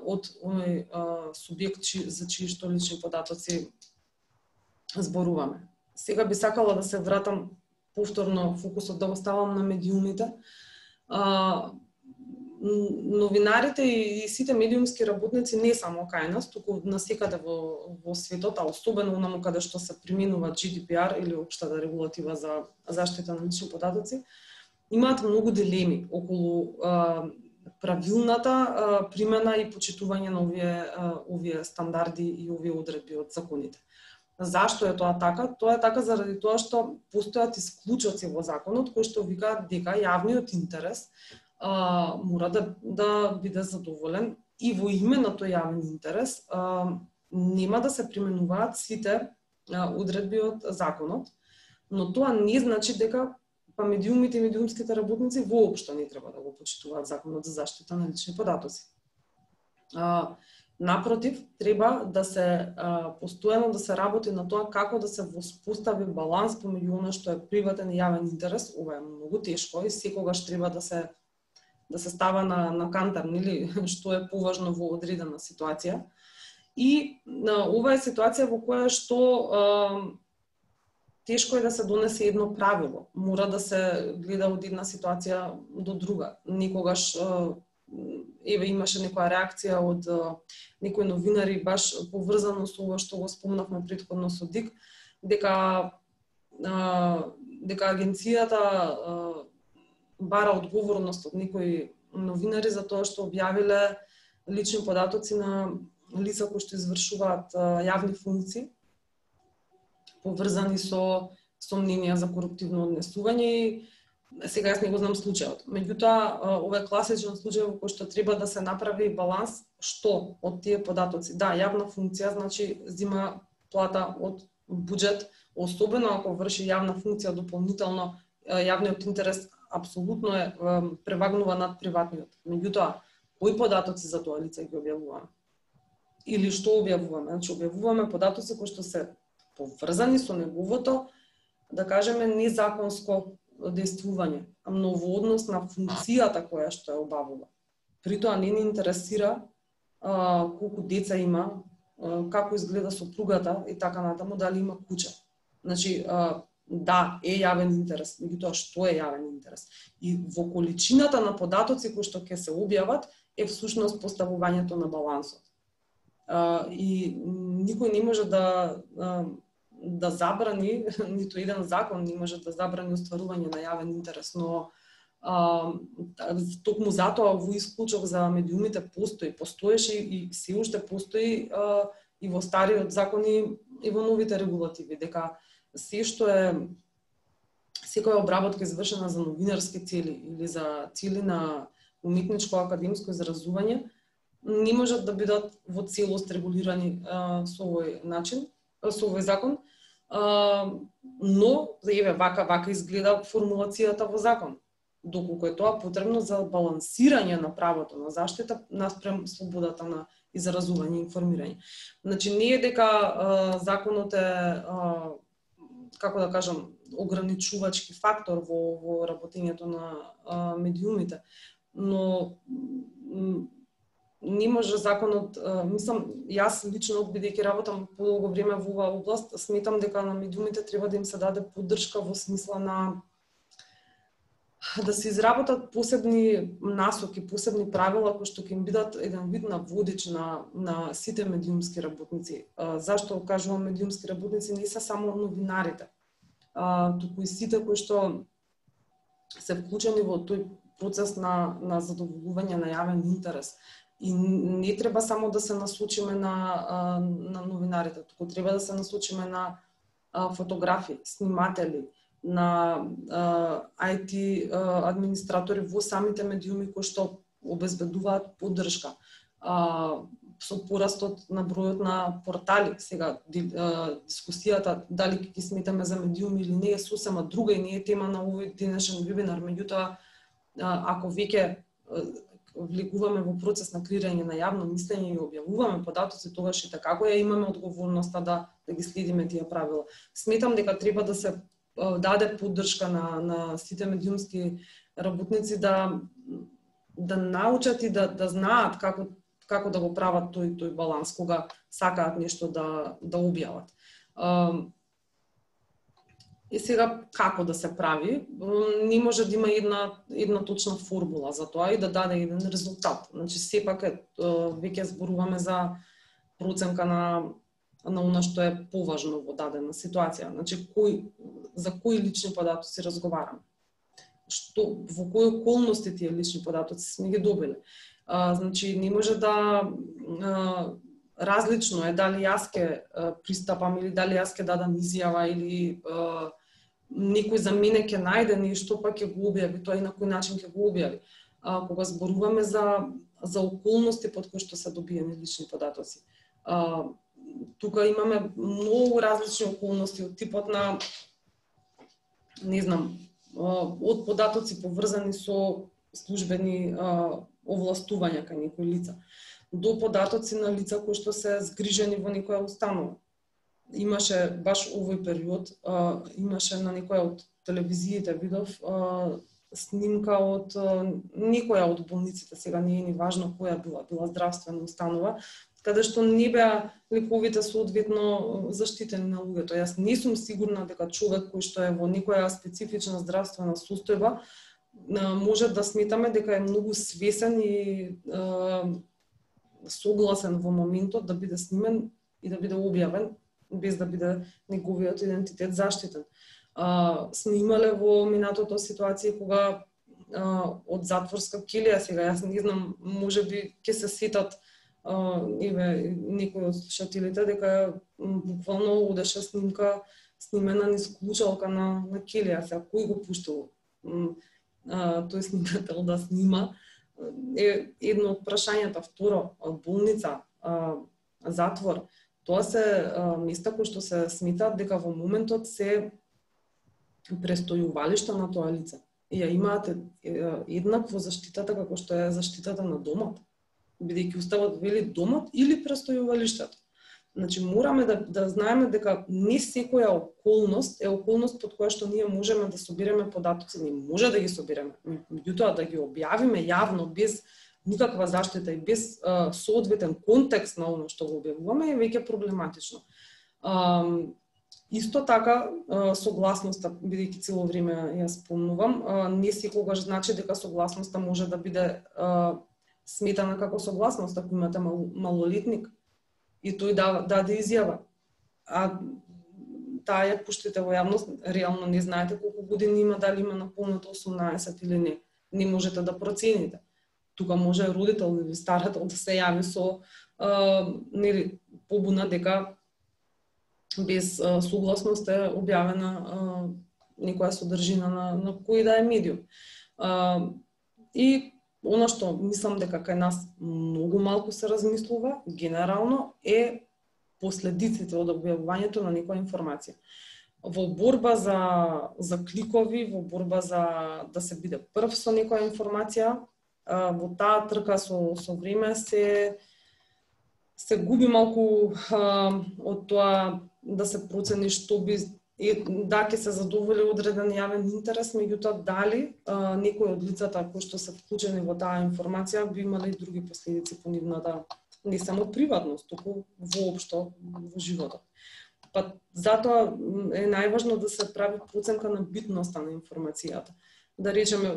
S2: од оној субјект за чии што лични податоци зборуваме. Сега би сакала да се вратам повторно фокусот да го ставам на медиумите. Новинарите и сите медиумски работници не само кај нас, туку насекаде во светот, а особено онаму каде што се применува GDPR или општата регулатива за заштита на лични податоци, имаат многу дилеми околу правилната примена и почитување на овие стандарди и овие одредби од законите. Зашто е тоа така? Тоа е така заради тоа што постојат исклучоци во законот кои што викаат дека јавниот интерес мора да биде задоволен и во име на тој јавен интерес нема да се применуваат сите одредби од законот, но тоа не значи дека медиумите и медиумските работници воопшто не треба да го почитуваат законот за заштита на лични податоци. Напротив, треба да се постојано да се работи на тоа како да се воспостави баланс помеѓу она што е приватен и јавен интерес. Ова е многу тешко и секогаш треба да се става на кантар, нели, што е поважно во одредена ситуација. И ова е ситуација во која што тешко е да се донесе едно правило. Мора да се гледа од една ситуација до друга. Никогаш имаше некоја реакција од некои новинари баш поврзано со ова што го спомнавме претходно со ДИК, дека агенцијата бара одговорност од некои новинари за тоа што објавиле лични податоци на лица кои што извршуваат јавни функции, поврзани со сомненија за коруптивно однесување. Сега јас не го знам случајот. Меѓутоа, ова е класичен случај во кој што треба да се направи баланс што од тие податоци. Да, јавна функција значи зима плата од буџет, особено ако врши јавна функција дополнително, јавниот интерес апсолутно е превагнува над приватниот. Меѓутоа, кои податоци за тоа лице ги објавуваме? Или што објавуваме? Значи, објавуваме податоци кои што се поврзани со неговото, да кажеме, незаконско действување, но во однос на функцијата која што ја обавува. При тоа не ни интересира колку деца има, како изгледа сопругата и така натаму, дали има куќа. Значи, да, е јавен интерес, меѓутоа што е јавен интерес? И во количината на податоци кои што ќе се објават е всушност поставувањето на балансот. И никој не може да забрани, ниту еден закон не може да забрани остварување на јавен интерес, но токму затоа во исклучок за медиумите постоеше и се уште постои и во стариот закони и во новите регулативи, дека се што е секоја обработка извршена за новинарски цели или за цели на уметничко академско изразување не можат да бидат во целост регулирани со овој начин, со овој закон, но вака изгледа формулацијата во закон. Доколку е тоа потребно за балансирање на правото на заштита наспрем слободата на изразување и информирање. Значи не е дека законот е како да кажам ограничувачки фактор во работењето на медиумите, но не може законот, мислам, јас лично бидејќи работам подолго време во оваа област, сметам дека на медиумите треба да им се даде поддршка во смисла на да се изработат посебни насоки, посебни правила кои што ќе им бидат еден вид на водич на сите медиумски работници. Зашто кажувам медиумски работници? Не се само новинарите, туку и сите кои што се вклучени во тој процес на задоволување на јавен интерес. И не треба само да се насочиме на новинарите, туку треба да се насочиме на фотографи, сниматели, на IT администратори во самите медиуми кои што обезбедуваат поддршка. Со порастот на бројот на портали, сега дискусијата дали ќе ги сметаме за медиуми или не е сосема друга и не е тема на овој денешен вебинар, меѓутоа ако веќе влегуваме во процес на креирање на јавно мислење и објавуваме податоци, тогаш и како ја имаме одговорноста да ги следиме тие правила. Сметам дека треба да се даде поддршка на сите медиумски работници да научат и да знаат како да го прават тој баланс кога сакаат нешто да објават. И сега како да се прави, не може да има една точна формула за тоа и да даде еден резултат. Значи сепак веќе зборуваме за проценка на она што е поважно во дадена ситуација. Значи за кои лични податоци разговараме? Во кои околности тие лични податоци сме ги добили? Значи не може да различно е дали јас ќе пристапам или дали јас ќе дадам изјава или некој за мене ќе најде нешто па ќе го објави тоа и на кој начин ќе го објави. кога зборуваме за околности под кои што се добиени лични податоци. Тука имаме многу различни околности од типот на, не знам, од податоци поврзани со службени овластувања кај некои лица, до податоци на лица кои што се згрижени во некоја установа. Имаше баш овој период, имаше на некоја од телевизиите видов снимка од некоја од болниците, сега не е ни важно која била здравствена установа, каде што не беа лековите соодветно заштитени на луѓето. Јас не сум сигурна дека човек кој што е во некоја специфична здравствена состојба може да сметаме дека е многу свесен и согласен во моментот да биде снимен и да биде објавен без да биде неговиот идентитет заштитен. Сме имале во минатото ситуација кога од затворска келија, сега јас не знам, можеби ќе се сетат некои од слушателите дека буквално одеше снимка снимена низ клучалка на келија. Сега кој го пуштил тој снимател да снима е едно од прашањата. Второ, болница, затвор, тоа се места кои што се сметаат дека во моментот се престојувалишта на тоа лице. И ја имаат еднакво заштитата како што е заштитата на домот, бидејќи уставот вели домот или престојувалиштето. Значи мораме да знаеме дека не секоја околност е околност под која што ние можеме да собереме податоци, не може да ги собереме. Меѓутоа да ги објавиме јавно без никаква заштита и без соодветен контекст на оно што го објавуваме е веќе проблематично. Исто така, согласноста, бидејќи цело време ја спомнувам, не секогаш значи дека согласноста може да биде сметана како согласност ако имате малолетник и тој даде изјава. А таа ја пуштите во јавност, реално не знаете колку години има, дали има наполнето 18 или не. Не можете да процените. Тука може родител или старател да се јави со побуна дека без согласност е објавена некоја содржина на кој да е медиум. И она што мислам дека кај нас многу малку се размислува, генерално, е последиците од објавувањето на некоја информација. Во борба за кликови, во борба за да се биде прв со некоја информација, во таа трка со време се губи малку од тоа да се процени што би да ќе се задоволи одреден јавен интерес, меѓутоа дали некој од лицата кои што се вклучени во таа информација би имале и други последици по нивната не само приватност, туку воопшто во животот. Па затоа е најважно да се прави проценка на битноста на информацијата. Да речеме,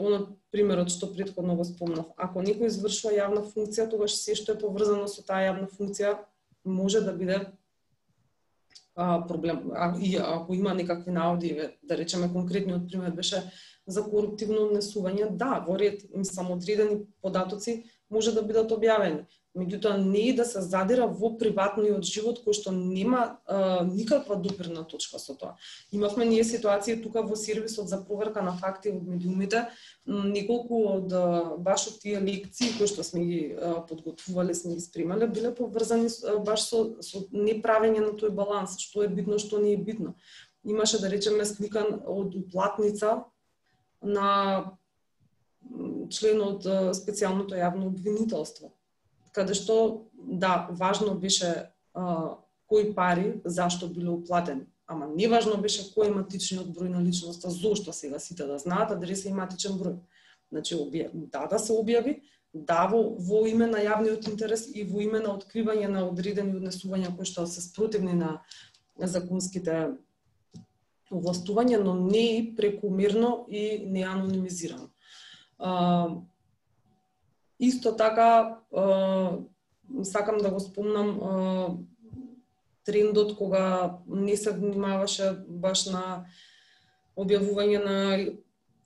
S2: примерот што претходно го спомнав, ако некој извршува јавна функција, тогаш се што е поврзано со таа јавна функција може да биде проблем. И ако има некакви наводи, да речеме конкретниот пример беше за коруптивно однесување, да, во ред самоодредени податоци може да бидат објавени. Меѓутоа не и да се задира во приватниот живот кој што нема никаква допирна точка со тоа. Имавме ние ситуации тука во сервисот за проверка на факти од медиумите, неколку од баш од тие лекции кои што сме ги подготвувале, сме ги спремале, биле поврзани баш со неправење на тој баланс, што е битно, што не е битно. Имаше, да речеме, сликан од уплатница на член од специјалното јавно обвинителство, каде што, да, важно беше кои пари, зашто биле уплатени. Ама не важно беше кој е матичниот број на личноста, зошто сега сите да знаат адреса и матичен број. Значи, да се објави, да во име на јавниот интерес и во име на откривање на одредени однесувања кои што се спротивни на законските овластувања, но не и прекумерно и неанонимизирано. Исто така, сакам да го спомнам трендот кога не се внимаваше баш на објавување на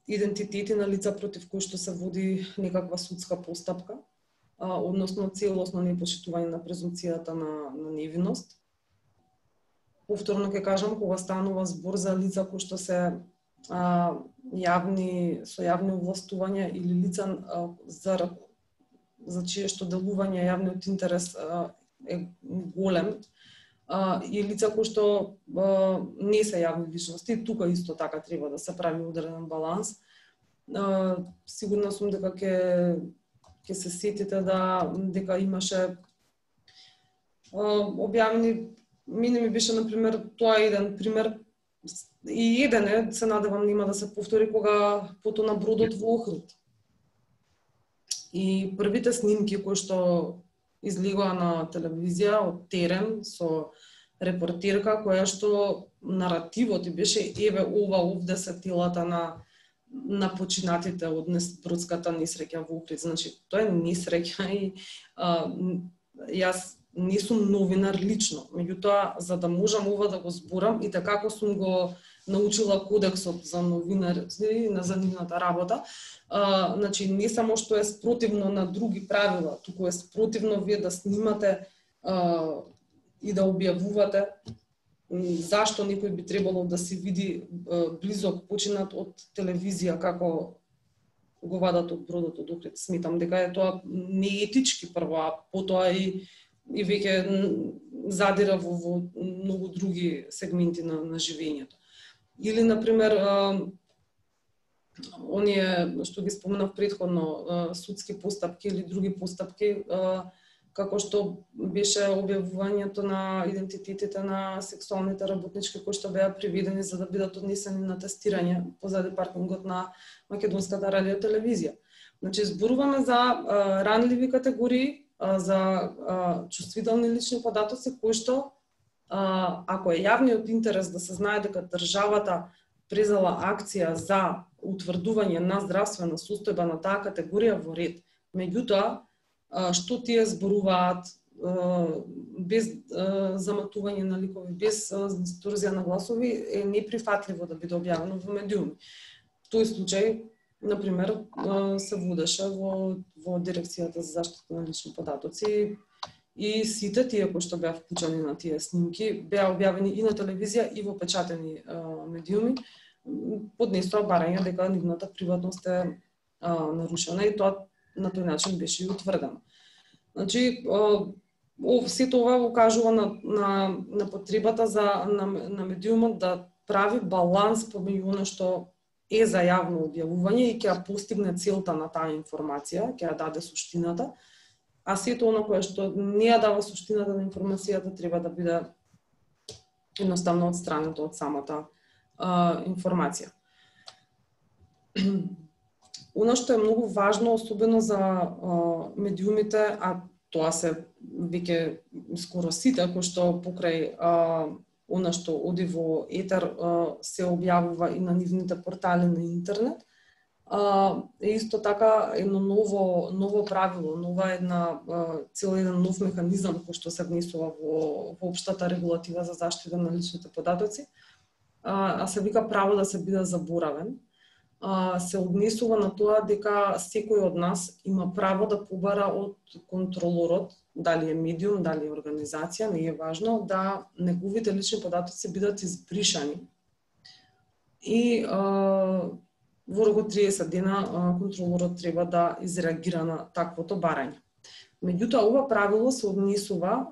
S2: идентитети на лица против кои што се води некаква судска постапка, односно целосно непочитување на презумпцијата на невиност. Повторно ќе кажам, кога станува збор за лица кои што се со јавни овластувања или лица за чие што делување јавниот интерес е голем, и лица кои што не се јавни личности, тука исто така треба да се прави одреден баланс. Сигурна сум дека ќе се сетите дека имаше објавени, мене ми беше например тоа еден пример, и еден е, се надевам нема да се повтори, кога потона бродот во Охрид. И првите снимки кои што излегоа на телевизија од терен со репортерка која што наративот и беше еве ова овде се телата на починатите од бродската несреќа во Охрид. Значи тоа е несреќа и јас не сум новинар лично, меѓутоа за да можам ова да го зборам и така како сум го научила кодексот за новинарите на нивната работа, значи не само што е спротивно на други правила, туку е спротивно вие да снимате и да објавувате зашто некој би требало да се види близок починат од телевизија како го вадат од бродот од Охрид. Сметам дека е тоа неетички прво, а потоа и веќе задира во многу други сегменти на живењето. Или, например, оние што ги споменав претходно, судски постапки или други постапки, како што беше објавувањето на идентитетите на сексуалните работнички кои што беа приведени за да бидат однесени на тестирање позади паркингот на македонската радиотелевизија. Значи, зборуваме за ранливи категории, за чувствителни лични податоци кои што ако е јавниот интерес да се знае дека државата презела акција за утврдување на здравствена состојба на таа категорија во ред. Меѓутоа, што тие зборуваат без заматување на ликови, без дисторзија на гласови, е неприфатливо да биде објавено во медиуми. Тој случај, например, се водеше во Дирекцијата за заштита на лични податоци и сите тие кои што беа вклучени на тие снимки беа објавени и на телевизија и во печатени медиуми, поднесоа барање дека нивната приватност е нарушена и тоа на тој начин беше и утврдено. Значи, сето ова ukажува на потребата на медиумот да прави баланс помеѓу она што е за јавно објавување и ќе ја постигне целта на таа информација, ќе ја даде суштината, а сето оно кое што не ја дава суштината на информацијата треба да биде едноставно отстрането од самата информација. Оно што е многу важно, особено за медиумите, а тоа се веќе скоро сите кои што покрај она што оди во етер се објавува и на нивните портали на интернет, е исто така едно ново правило, цел еден нов механизам кој што се внесува во општата регулатива за заштита на личните податоци, а се вика право да се биде заборавен. Се однесува на тоа дека секој од нас има право да побара од контролорот, дали е медиум, дали е организација, не е важно, да неговите лични податоци бидат избришани. И во рок од 30 дена контролорот треба да изреагира на таквото барање. Меѓутоа, ова правило се однесува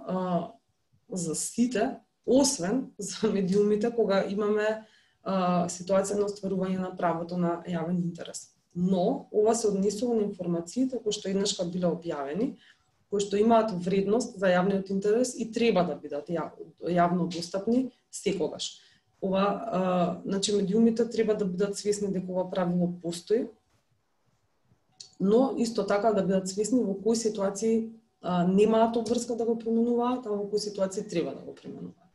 S2: за сите, освен за медиумите кога имаме ситуација на остварување на правото на јавен интерес. Но, ова се однесува на информациите кои што еднашка биле објавени, кои што имаат вредност за јавниот интерес и треба да бидат јавно достапни секогаш. Значи, медиумите треба да бидат свесни дека ова правило постои, но исто така да бидат свесни во кои ситуации немаат обврска да го применуваат, а во кои ситуации треба да го применуваат.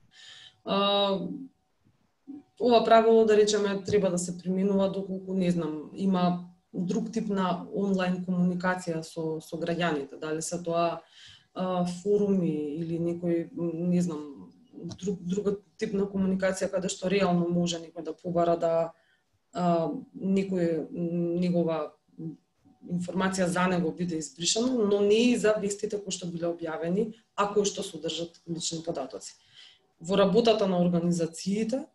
S2: Ова правило, да речеме, треба да се применува доколку, не знам, има друг тип на онлайн комуникација со граѓаните, дали се тоа форуми или некој, не знам, друг тип на комуникација каде што реално може некој да побара да негова информација за него биде избришана, но не и за вестите кои што биле објавени, а кои што содржат лични податоци. Во работата на организациите,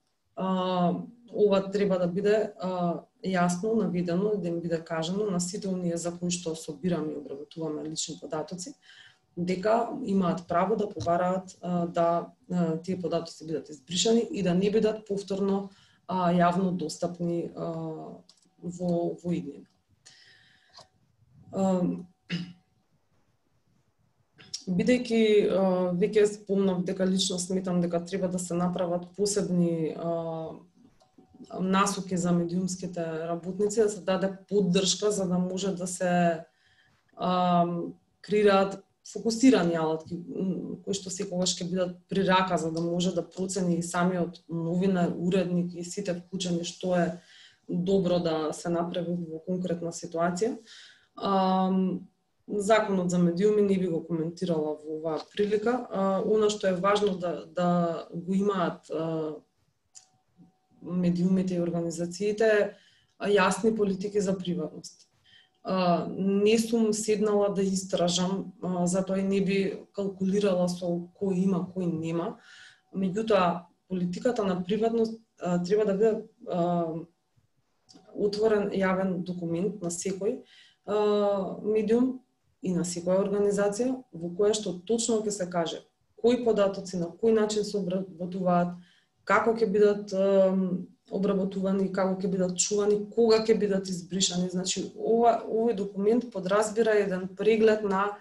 S2: ова треба да биде јасно наведено, да им биде кажано на сите оние за кои што собираме и обработуваме лични податоци, дека имаат право да побараат да тие податоци бидат избришани и да не бидат повторно јавно достапни во иднина. Бидејќи веќе спомнав дека лично сметам дека треба да се направат посебни насоки за медиумските работници, да се даде поддршка за да може да се креираат фокусирани алатки кои што секогаш ќе бидат при рака за да може да процени и самиот новинар, уредник и сите вклучени што е добро да се направи во конкретна ситуација. Законот за медиуми не би го коментирала во оваа прилика. Она што е важно да го имаат медиумите и организациите јасни политики за приватност. Не сум седнала да истражам, затоа и не би калкулирала со кој има, кој нема. Меѓутоа, политиката на приватност треба да биде отворен јавен документ на секој медиум и на секоја организација, во која што точно ќе се каже кои податоци на кој начин се обработуваат, како ќе бидат обработувани, како ќе бидат чувани, кога ќе бидат избришани. Значи, овој документ подразбира еден преглед на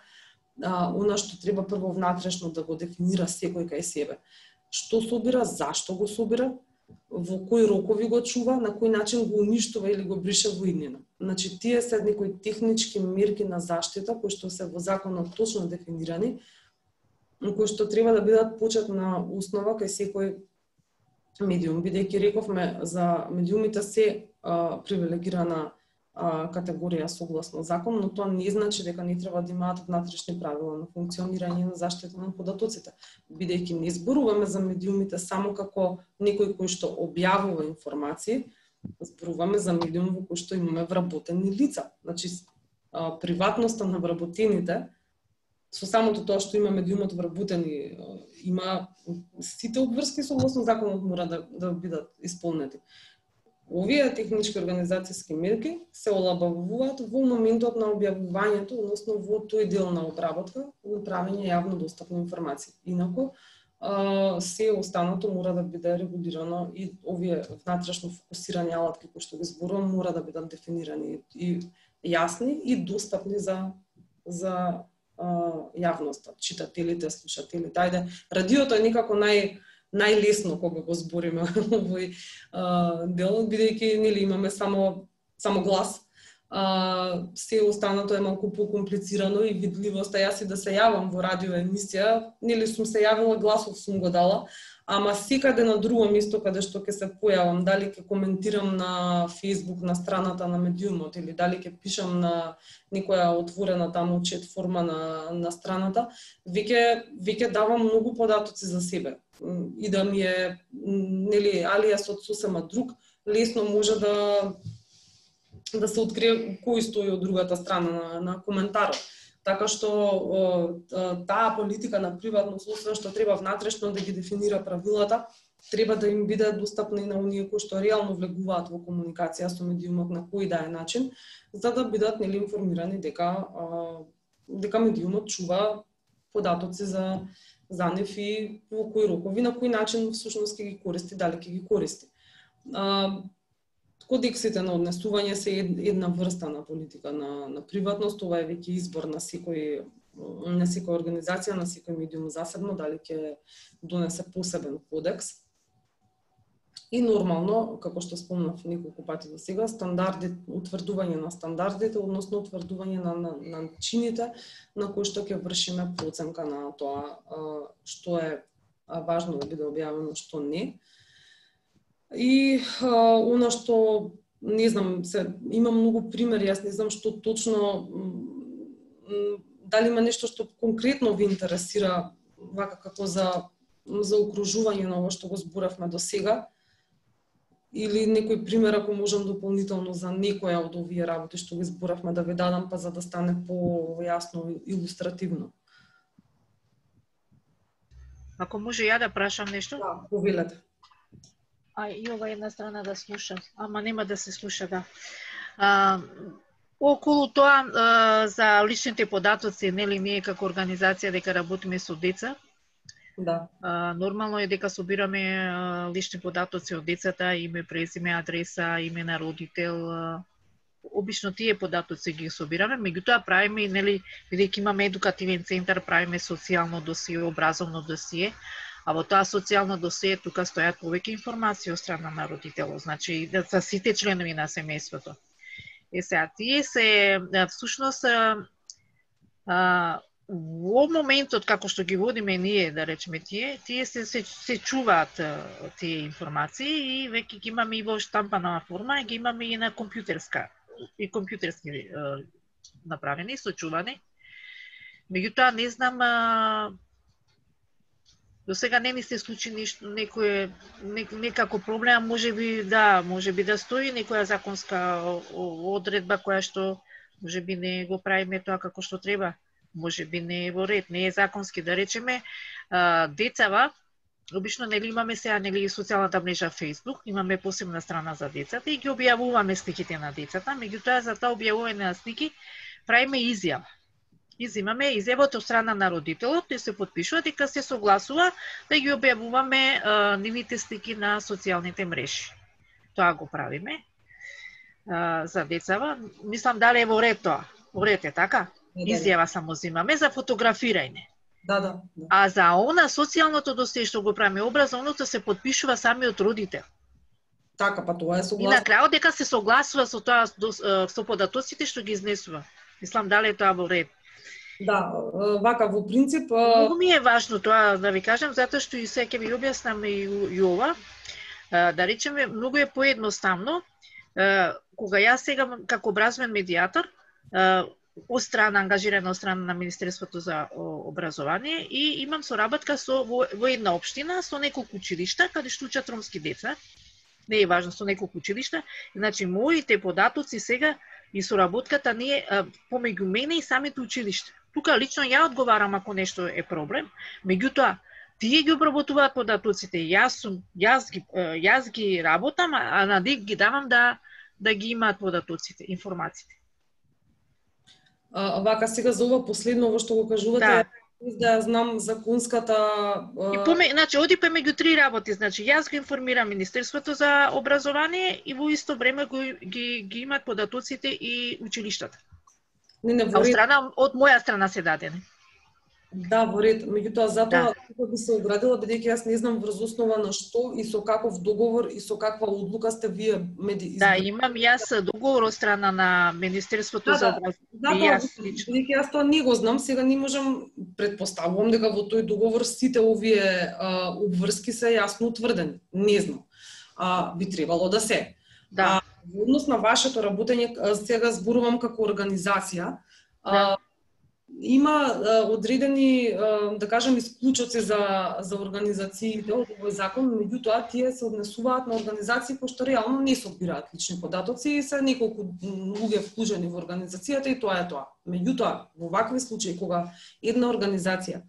S2: она што треба прво внатрешно да го дефинира секој кај себе. Што собира, зашто го собира, во кои рокови го чува, на кој начин го уништува или го брише во иднина. Значи, тие се некои технички мерки на заштита, кои што се во законот точно дефинирани, кои што треба да бидат почетна основа кај секој медиум, бидејќи рековме за медиумите се привилегирана категорија согласно закон, но тоа не значи дека не треба да имаат внатрешни правила на функционирање на заштита на податоците, бидејќи не зборуваме за медиумите само како некој кој што објавува информации, зборуваме за медиум во кој што имаме вработени лица. Значи, приватноста на вработените, со самото тоа што има медиумот вработени, има сите обврски согласно законот мора да бидат исполнети. Овие технички организацијски мерки се олабавуваат во моментот на објавувањето, односно во тој дел на обработка, на правење јавно достапни информации. Инаку, се останато мора да биде регулирано и овие внатрешно фокусирани алатки кои што ги зборувам мора да бидат дефинирани и јасни и достапни за јавноста, читателите, слушателите. Ајде, радиото е некако најлесно кога го збориме овој дел, бидејќи нели имаме само глас. Се останато е малку покомплицирано и видливоста. Јас и да се јавам во радио емисија, нели сум се јавила, гласов сум го дала, ама секаде на друго место каде што ќе се појавам, дали ќе коментирам на Facebook на страната на медиумот или дали ќе пишам на некоја отворена таму чет форма на страната, веќе давам многу податоци за себе. И да ми е нели алијасот сосема друг, лесно може да се открие кој стои од другата страна на коментарот. Така што таа политика на приватност, освен што треба внатрешно да ги дефинира правилата, треба да им биде достапна и на оние кои што реално влегуваат во комуникација со медиумот на кој да е начин, за да бидат нели информирани дека медиумот чува податоци за нив и во кои рокови, на кој начин всушност ќе ги користи, дали ќе ги користи. Кодексите на однесување се една врста на политика на приватност, ова е веќе избор на секоја организација, на секој медиум засебно, дали ќе донесе посебен кодекс. И нормално, како што спомнав неколку пати до сега, утврдување на стандардите, односно утврдување на начините на кои што ќе вршиме проценка на тоа што е важно да биде објавено, што не. И она што, не знам, има многу примери, јас не знам што точно, дали има нешто што конкретно ви интересира, вака како за окружување на ова што го зборавме до сега, или некој пример ако можам дополнително за некоја од овие работи што ги зборавме да ви дадам, па за да стане појасно илустративно.
S5: Ако може ја да прашам нешто?
S2: Да, повелете.
S5: и ова една страна да слуша, ама нема да се слуша, да. Околу тоа за личните податоци, нели ние како организација дека работиме со деца,
S2: Да.
S5: Нормално е дека собираме лични податоци од децата, име, презиме, адреса, име на родител. Обично тие податоци ги собираме, меѓутоа правиме, нели, бидејќи имаме едукативен центар, правиме социјално досие, образовно досие, а во тоа социјално досие тука стојат повеќе информации од страна на родителот, значи за сите членови на семејството. Сега, тие се, всушност, во моментот како што ги водиме ние, да речеме тие се чуваат тие информации и веќе ги имаме и во штампана форма, ги имаме и на компјутерски направени, сочувани. Меѓутоа не знам, до сега не ни се случи ништо, некако проблем, можеби да стои некоја законска одредба која што можеби не го правиме тоа како што треба. Можеби не е во ред, не е законски, да речеме, децава, обично нели имаме сега нели социјалната мрежа Facebook, имаме посебна страна за децата и ги објавуваме сликите на децата, меѓутоа за тоа објавување на слики правиме изјава. Изимаме изјавата од страна на родителот и се потпишува дека се согласува да ги објавуваме нивните слики на социјалните мрежи. Тоа го правиме за децава. Мислам дали е во ред тоа. Во ред е така? Изјава само зимаме за фотографирање.
S2: Да.
S5: А за она социјалното досие што го правиме образовното се потпишува самиот родител.
S2: Така, па тоа е согласно.
S5: И на крајот дека се согласува со тоа со податоците што ги изнесува. Мислам дали е тоа во ред.
S2: Да, вака во принцип
S5: многу ми е важно тоа да ви кажам, затоа што и сега ќе ви објаснам и ова. Да речеме, многу е поедноставно кога јас сега како образовен медијатор ангажирана од страна на Министерството за образование и имам соработка во една општина со неколку училишта каде што учат ромски деца. Не е важно, со неколку училишта. Значи моите податоци сега и соработката не е помеѓу мене и самите училишта. Тука лично ја одговарам ако нешто е проблем, меѓутоа тие ги обработуваат податоците, јас ги работам, а на ДИК ги давам да ги имаат податоците, информациите.
S2: Вака сега за ова последно што го кажувате, да знам законската
S5: значи оди меѓу три работи, значи јас го информирам Министерството за образование и во исто време ги имаат податоците и училиштата. Од моја страна се дадени.
S2: Да, во ред, меѓутоа затоа би се оградила бидејќи јас не знам врз основа на што и со каков договор и со каква одлука сте вие
S5: Да, имам јас договор од страна на Министерството за образование.
S2: Бидејќи јас тоа не го знам, сега не можам, предпоставувам дека во тој договор сите овие обврски се јасно утврдени. Не знам. Би требало да се.
S5: Да.
S2: Во однос на вашето работење, сега зборувам како организација, има одредени, да кажем, исклучоци за организациите од овој закон, меѓутоа тие се однесуваат на организации кои што реално не собираат лични податоци и се неколку луѓе вклучени во организацијата и тоа е тоа. Меѓутоа, во вакви случаи кога една организација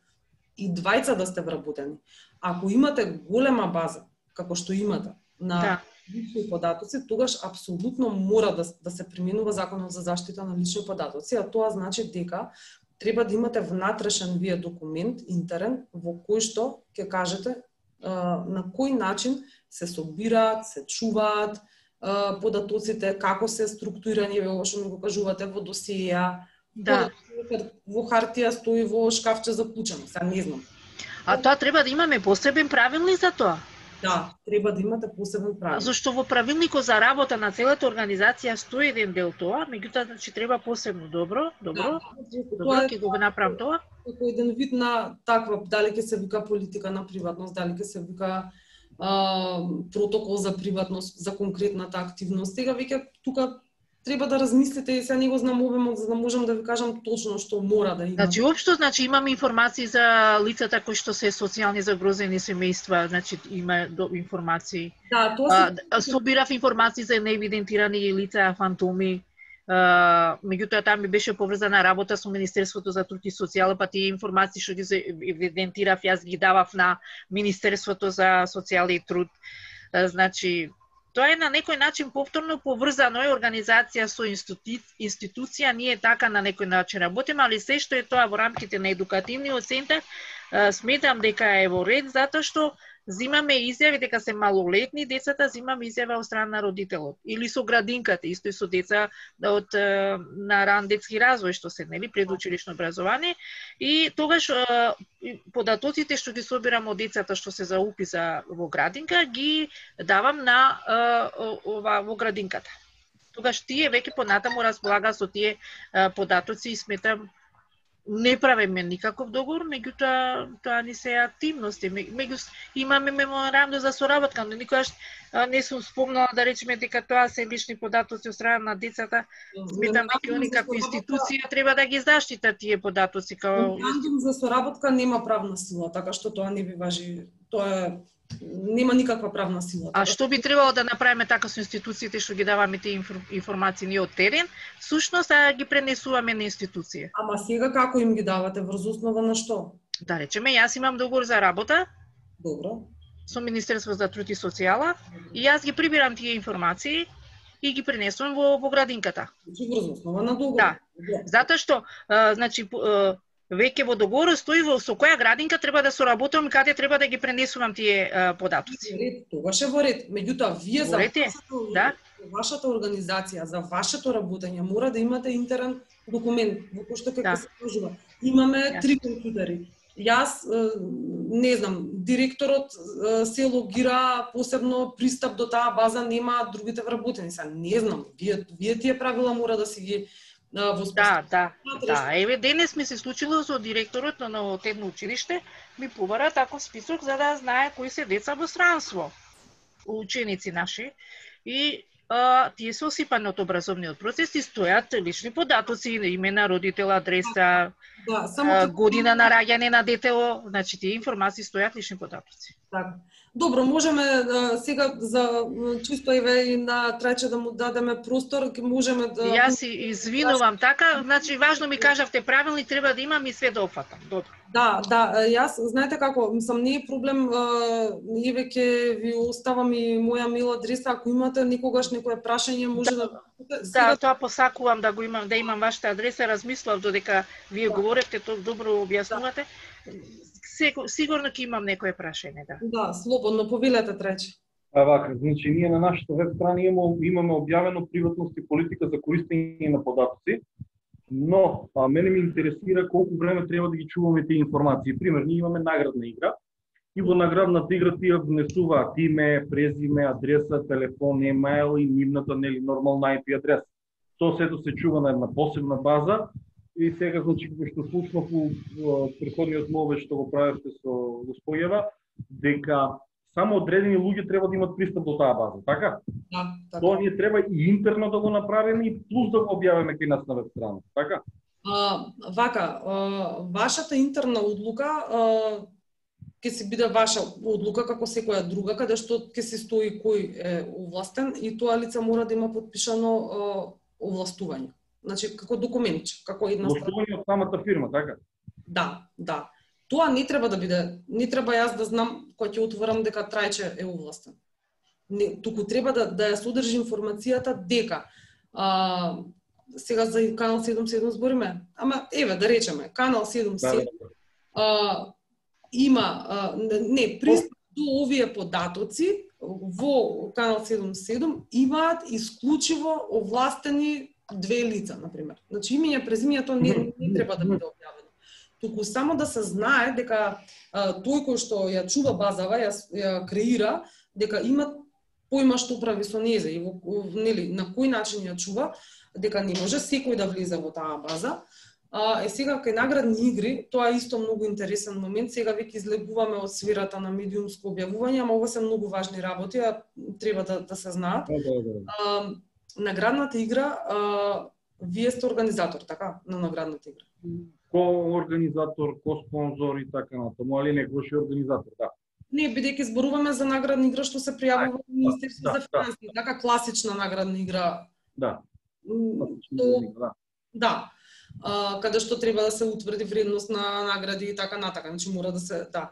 S2: и двајца да сте вработени, ако имате голема база, како што имате, на лични податоци, тогаш апсолутно мора да се применува Законот за заштита на лични податоци, а тоа значи дека треба да имате внатрешен вие документ, интерен, во кој што ќе кажете на кој начин се собираат, се чуваат податоците, како се структурирани, во што ми го кажувате, во досија, во хартија стои во шкафче за клучено, сега не знам.
S5: А тоа треба да имаме посебен правилник за тоа?
S2: Да, треба да имате посебен правилник.
S5: Зашто во правилникот за работа на целата организација стои еден дел тоа, меѓутоа значи треба посебно добро, ќе го направам тоа.
S2: Како еден вид на таква, дали ќе се вика политика на приватност, дали ќе се вика протокол за приватност, за конкретната активност. Сега веќе тука треба да размислите и сега не го знам обемот за да можам да ви кажам точно што мора да има.
S5: Значи општо имаме информации за лицата кои што се социјални загрозени семејства, значи има информации.
S2: Да, тоа
S5: собирав информации за неевидентирани лица, фантоми. Меѓутоа таа ми беше поврзана работа со Министерството за труд и социјала, па тие информации што ги евидентирав, јас ги давав на Министерството за социјала и труд. Значи, тоа е на некој начин повторно поврзано е организација со институција, ние така на некој начин работиме, али се што е тоа во рамките на едукативниот центар, сметам дека е во ред, затоа што зимаме изјави дека се малолетни децата, зимаме изјава од страна на родителот или со градинката, исто и со деца од на ран детски развој што се, нели, предучилишно образование, и тогаш податоците што ги собирам од децата што се за уписа во градинка ги давам на во градинката. Тогаш тие веќе понатаму располага со тие податоци и сметам не правиме никаков договор, меѓутоа тоа ни се активности. Имаме меморандум за соработка, но никогаш не сум спомнала да речеме дека тоа се лични податоци од страна на децата. Сметам дека они како институција треба да ги заштитат тие податоци.
S2: Меморандум за соработка нема правна сила, така што тоа не би важи. Тоа нема никаква правна сила.
S5: А што би требало да направиме така со институциите што ги даваме тие информации ние од терен, всушност ги пренесуваме на институција.
S2: Ама сега како им ги давате, врз основа на што?
S5: Да речеме, јас имам договор за работа.
S2: Добро.
S5: Со Министерство за труд и социјала и јас ги прибирам тие информации и ги пренесувам во градинката.
S2: Значи врз основа на договор.
S5: Да. Затоа што значи веќе во договорот стои со која градинка треба да соработувам и каде треба да ги пренесувам тие податоци.
S2: Тогаш е во ред. Меѓутоа, вие за вашата организација, за вашето работење, мора да имате интерен документ, во кој што како се кажува. Имаме 3 компјутери. Јас, не знам, директорот се логира посебно пристап до таа база, нема другите вработени. Не знам, вие тие правила мора да си ги
S5: Да, еве денес ми се случило со директорот на едно училиште, ми побара таков список за да знае кои се деца во странство, ученици наши, и тие се осипани од образовниот процес и стојат лични податоци, име на родител, адреса, година на раѓање на детето, значи тие информации стојат лични податоци.
S2: Така. Добро, можеме сега за чисто еве на Трајче да му дадеме простор, можеме да...
S5: Јас извинувам така, значи важно ми кажавте правилни, треба да имам и све да опфатам. Добро.
S2: Да, јас, знаете како, мислам, не е проблем, еве ќе ви оставам и моја мејл адреса, ако имате никогаш некое прашање, може да...
S5: Да, тоа посакувам да го имам, да имам вашата адреса, размислав додека вие говоревте, тоа добро објаснувате. Сигурно ќе имам некое прашање, да.
S2: Да, слободно, повелете, Трајче.
S4: Вака, значи ние на нашата веб страна имаме објавено приватност и политика за користење на податоци, но мене ми интересира колку време треба да ги чуваме тие информации. Пример, ние имаме наградна игра и во наградната игра тие внесуваат име, презиме, адреса, телефон, емаил и нивната нели нормална IP адреса. Тоа сето се чува на една посебна база. И сега, значи, како што слушнав во претходниот мове што го правевте со госпоѓава, дека само одредени луѓе треба да имат пристап до таа база, така?
S2: Да, така.
S4: Тоа ние треба и интерно да го направиме и плюс да го објавиме кај нас на веб страна, така?
S2: Вашата интерна одлука ќе се биде ваша одлука како секоја друга, каде што ќе се стои кој е овластен и тоа лице мора да има подпишано овластување. Значи, како документче, како една страна.
S4: Овластување од самата фирма, така?
S2: Да. Тоа не треба да биде, не треба јас да знам кога ќе отворам дека Трајче е овластен. Туку треба да ја содржи информацијата дека сега за канал 77 збориме, ама еве да речеме, канал 77 има пристап до овие податоци во канал 77 имаат исклучиво овластени 2 лица, например. Значи имење презимењето не треба да биде објавено. Туку само да се знае дека тој кој што ја чува базава, ја креира, дека има појма што прави со нејза и нели на кој начин ја чува, дека не може секој да влезе во таа база. Сега кај наградни игри, тоа е исто многу интересен момент. Сега веќе излегуваме од сферата на медиумско објавување, ама ова се многу важни работи, треба да се знаат. Наградната игра, вие сте организатор, така, на наградната игра?
S4: Ко-организатор, ко-спонзор и така натаму, али некојаш организатор, да.
S2: Не, бидејќи зборуваме за наградна игра што се пријавува во Министерството за финансии, така класична наградна игра.
S4: Да.
S2: Да. Каде што треба да се утврди вредност на награди и така натака, значи мора да се, да.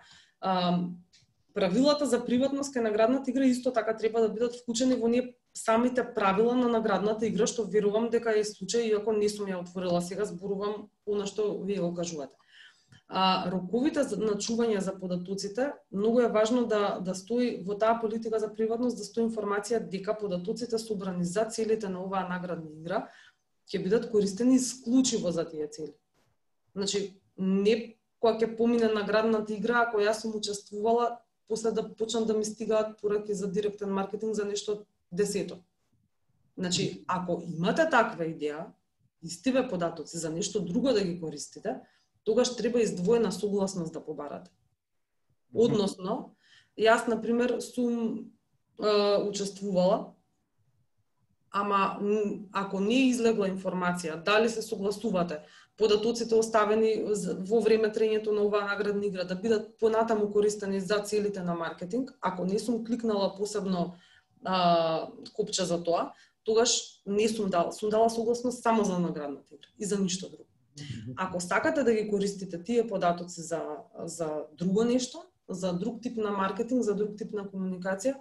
S2: правилата за приватност кај наградната игра исто така треба да бидат вклучени во ние самите правила на наградната игра, што верувам дека е случај, иако не сум ја отворила сега, зборувам она што вие го кажувате. Роковите на чување за податоците, многу е важно да стои во таа политика за приватност, да стои информација дека податоците собрани за целите на оваа наградна игра ќе бидат користени исклучиво за тие цели. Значи, не кога ќе помине наградната игра, ако јас сум учествувала, после да почнат да ми стигаат пораки за директен маркетинг за нешто десето. Значи, ако имате таква идеја, истиве податоци за нешто друго да ги користите, тогаш треба издвоена согласност да побарате. Односно, јас, например, сум учествувала, ама ако не излегла информација, дали се согласувате, податоците оставени во време трењето на оваа наградна игра да бидат понатаму користени за целите на маркетинг, ако не сум кликнала посебно копче за тоа, тогаш не сум дала согласност само за наградната игра и за ништо друго. Ако сакате да ги користите тие податоци за друго нешто, за друг тип на маркетинг, за друг тип на комуникација,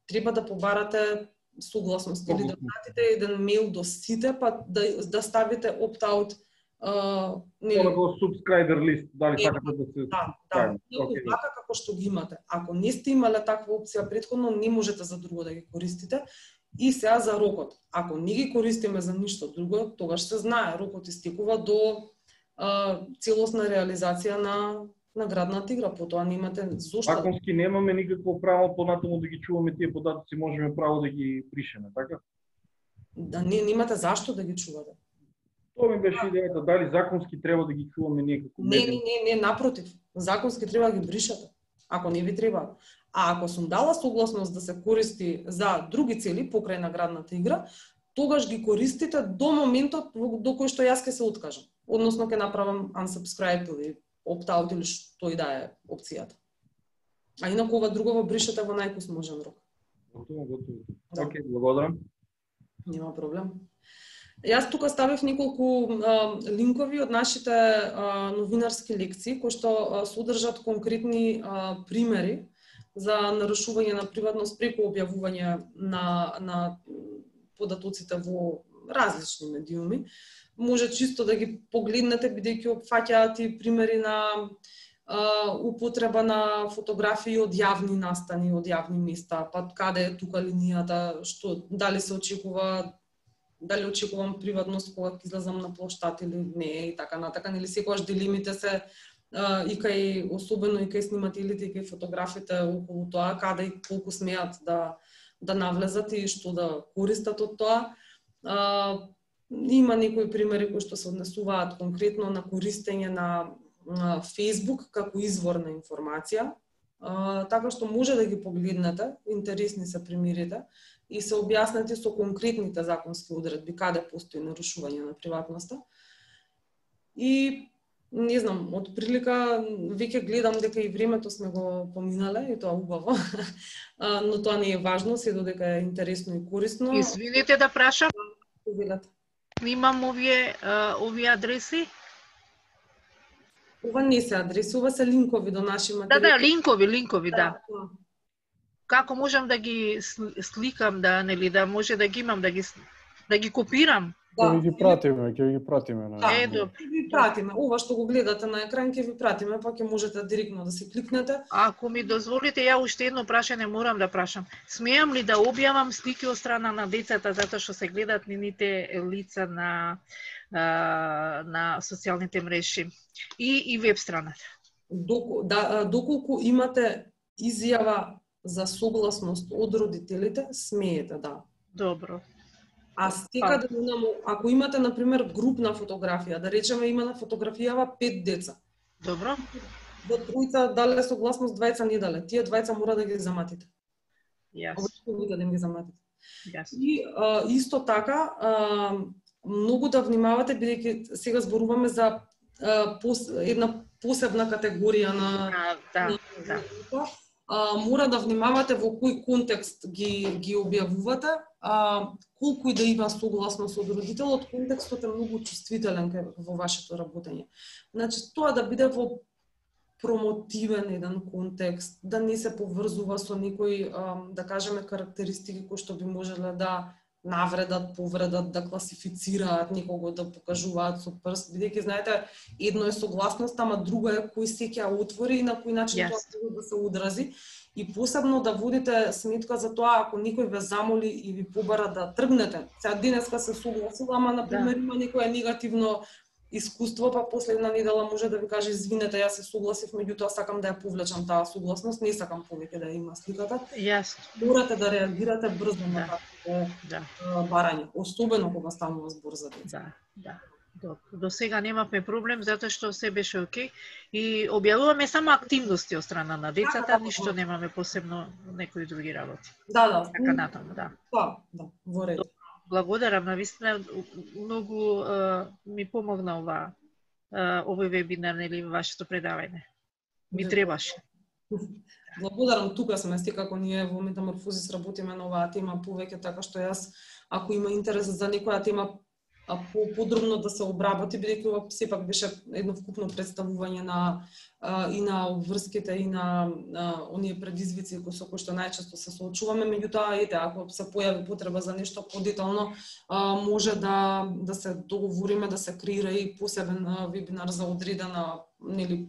S2: треба да побарате согласност или да пратите еден мејл до сите, па да ставите opt-out
S4: во subscriber list, дали сакате да се...
S2: Да, така како што ги имате. Ако не сте имале таква опција претходно, не можете за друго да ги користите. И сега за рокот. Ако не ги користиме за ништо друго, тогаш се знае, рокот истекува до целосна реализација на наградната игра. Потоа немате зошто.
S4: Законски немаме никакво право понатаму да ги чуваме тие податоци, можеме право да ги бришеме, така?
S2: Да, немате зашто да ги чувате.
S4: Тоа ми беше идејата, дали законски треба да ги чуваме ние како медиум?
S2: Не, напротив. Законски треба да ги бришате, ако не ви треба. А ако сум дала согласност да се користи за други цели покрај наградната игра, тогаш ги користите до моментот до кој што јас ќе се откажам. Односно ќе направам unsubscribe или opt-out или што и да е опцијата. А инаку ова друго бришете во најпосможен рок.
S4: Готово. Океј, благодарам.
S2: Нема проблем. Јас тука ставив неколку линкови од нашите новинарски лекции кои што содржат конкретни примери за нарушување на приватност преку објавување на податоците во различни медиуми. Може чисто да ги погледнете, бидејќи опфаќаат и примери на употреба на фотографии од јавни настани, од јавни места, па каде е тука линијата, што дали се очекува, дали очекувам приватност кога ќе излезам на плоштад или не и така натака, или секогаш дилемите се и кај особено и кај снимателите и кај фотографите околу тоа, каде и колку смеат да навлезат и што да користат од тоа. Има некои примери кои што се однесуваат конкретно на користење на Facebook како извор на информација, така што може да ги погледнете, интересни се примерите и се објаснети со конкретните законски одредби каде постои нарушување на приватноста. И не знам, од прилика веќе гледам дека и времето сме го поминале и тоа убаво, но тоа не е важно, се додека е интересно и корисно.
S5: Извините да прашам.
S2: Имам
S5: овие адреси?
S2: Ова не се адреси, ова се линкови до наши материјали.
S5: Да, линкови, да. Како можам да ги сликам, да може да ги имам, да ги копирам?
S1: Ќе ги пратиме.
S2: Ќе ви пратиме. Ова што го гледате на екран ќе ви пратиме, па ќе можете директно да се кликнете.
S5: Ако ми дозволите, ја уште едно прашање морам да прашам. Смеам ли да објавам слики од страна на децата затоа што се гледат нивните лица на социјалните мрежи и веб страната?
S2: Доколку имате изјава за согласност од родителите, смеете, да.
S5: Добро.
S2: А стека да ако имате, например, групна фотографија, да речеме има на фотографијава 5 деца.
S5: Добро.
S2: До тројца дале согласност, двајца не дале. Тие двајца мора да ги заматите.
S5: Јасно.
S2: Да ги заматите.
S5: Јасно.
S2: И исто така, многу да внимавате, бидејќи сега зборуваме за една посебна категорија на мора да внимавате во кој контекст ги објавувате, колку и да има согласност од родителот, контекстот е многу чувствителен во вашето работење. Значи, тоа да биде во промотивен еден контекст, да не се поврзува со некои, да кажеме, карактеристики кои што би можеле да навредат, повредат, да класифицираат некого, да покажуваат со прст, бидејќи знаете, едно е согласност, ама друго е кој се ќе отвори и на кој начин тоа може да се одрази. И посебно да водите сметка за тоа, ако некој ве замоли и ви побара да тргнете. Сега денеска се согласила, ама например има некое негативно искуство, па последна недела може да ви каже извинете, јас се согласив, меѓутоа сакам да ја повлечам таа согласност, не сакам повеќе да има сликата. Морате да реагирате брзо на такво барање, особено кога станува збор за деца.
S5: До сега немавме проблем затоа што се беше окей и објавуваме само активности од страна на децата, ништо немаме посебно некои други работи. Така натаму,
S2: во ред.
S5: Благодарам, навистина многу ми помогна овој вебинар, нели, вашето предавање. Ми требаше.
S2: Благодарам, тука сме, како ние во Метаморфозис работиме на оваа тема повеќе, така што јас, ако има интерес за некоја тема подробно да се обработи, бидејќи ова сепак беше едно вкупно представување и на обврските и на оние предизвици со кои што најчесто се соочуваме, меѓутоа ако се појави потреба за нешто подетално, може да се договориме да се креира и посебен вебинар за одредена, нели,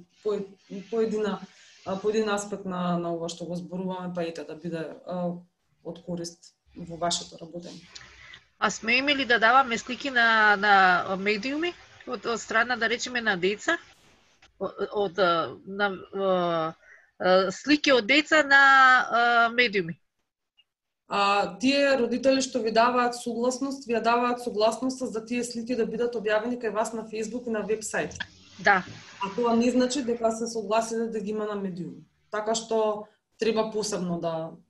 S2: поедин аспект на ова што го зборуваме, па да биде од корист во вашето работење.
S5: А сме имели да даваме слики на медиуми од страна, да речеме, на деца, слики од деца на медиуми.
S2: Тие родители што ви даваат согласност, ви даваат согласноста за тие слики да бидат објавени кај вас на Facebook и на вебсайт.
S5: Да.
S2: А тоа не значи дека се согласиле да ги има на медиуми. Така што треба посебно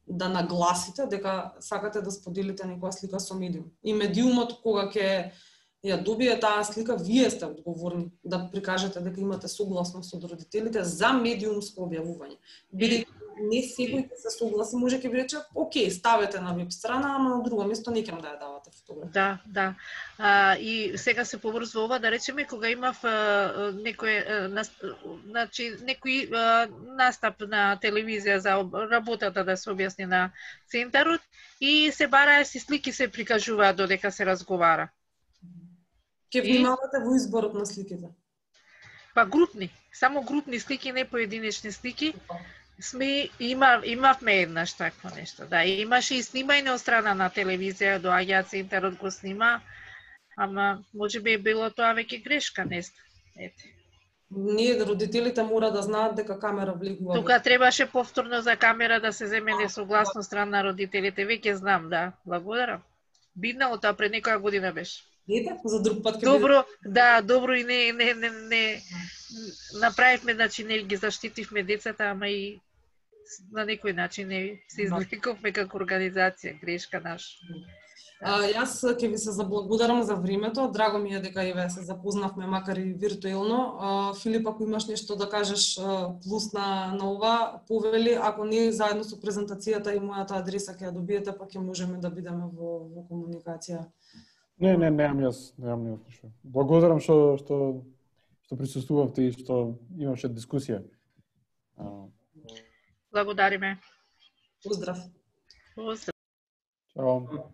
S2: да нагласите дека сакате да споделите некоја слика со медиум. И медиумот кога ќе ја добие таа слика, вие сте одговорни да прикажете дека имате согласност од родителите за медиумско објавување. Бидејќи не секој ќе се согласи, може ќе ви рече, окей, ставете на веб страна, ама на друго место не ќе да ја давате фотографија.
S5: Да. И сега се поврзува ова, да речеме, кога имав некој настап на телевизија за работата да се објасни на центарот и се бараа си слики, се прикажуваат додека се разговара.
S2: Ке внимавате во изборот на сликите?
S5: Па групни, само групни слики, не поединечни слики. Имавме еднаш такво нешто. Да, имаше и снимање од страна на телевизија, доаѓа центарот го снима, ама можеби било тоа веќе грешка, не знам.
S2: Ние, родителите, мора да знаат дека камера влегува.
S5: Тука требаше повторно за камера да се земе несогласно страна на родителите, веќе знам, да. Благодарам. Биднало тоа пред некоја година беше.
S2: За друг пат
S5: добро, да, добро и не направивме, значи не ги заштитивме децата, ама и на некој начин не се извлековме како организација, грешка наша.
S2: Јас ќе ви се заблагодарам за времето. Драго ми е дека и ве се запознавме, макар и виртуелно. Филип, ако имаш нешто да кажеш плюс на ова, повели, ако не, заедно со презентацијата и мојата адреса ќе ја добиете, па ќе можеме да бидеме во комуникација.
S1: Немам јас ништо. Благодарам што присуствувавте и што имаше дискусија.
S5: Благодариме.
S2: Поздрав.
S5: Поздрав.
S1: Чао.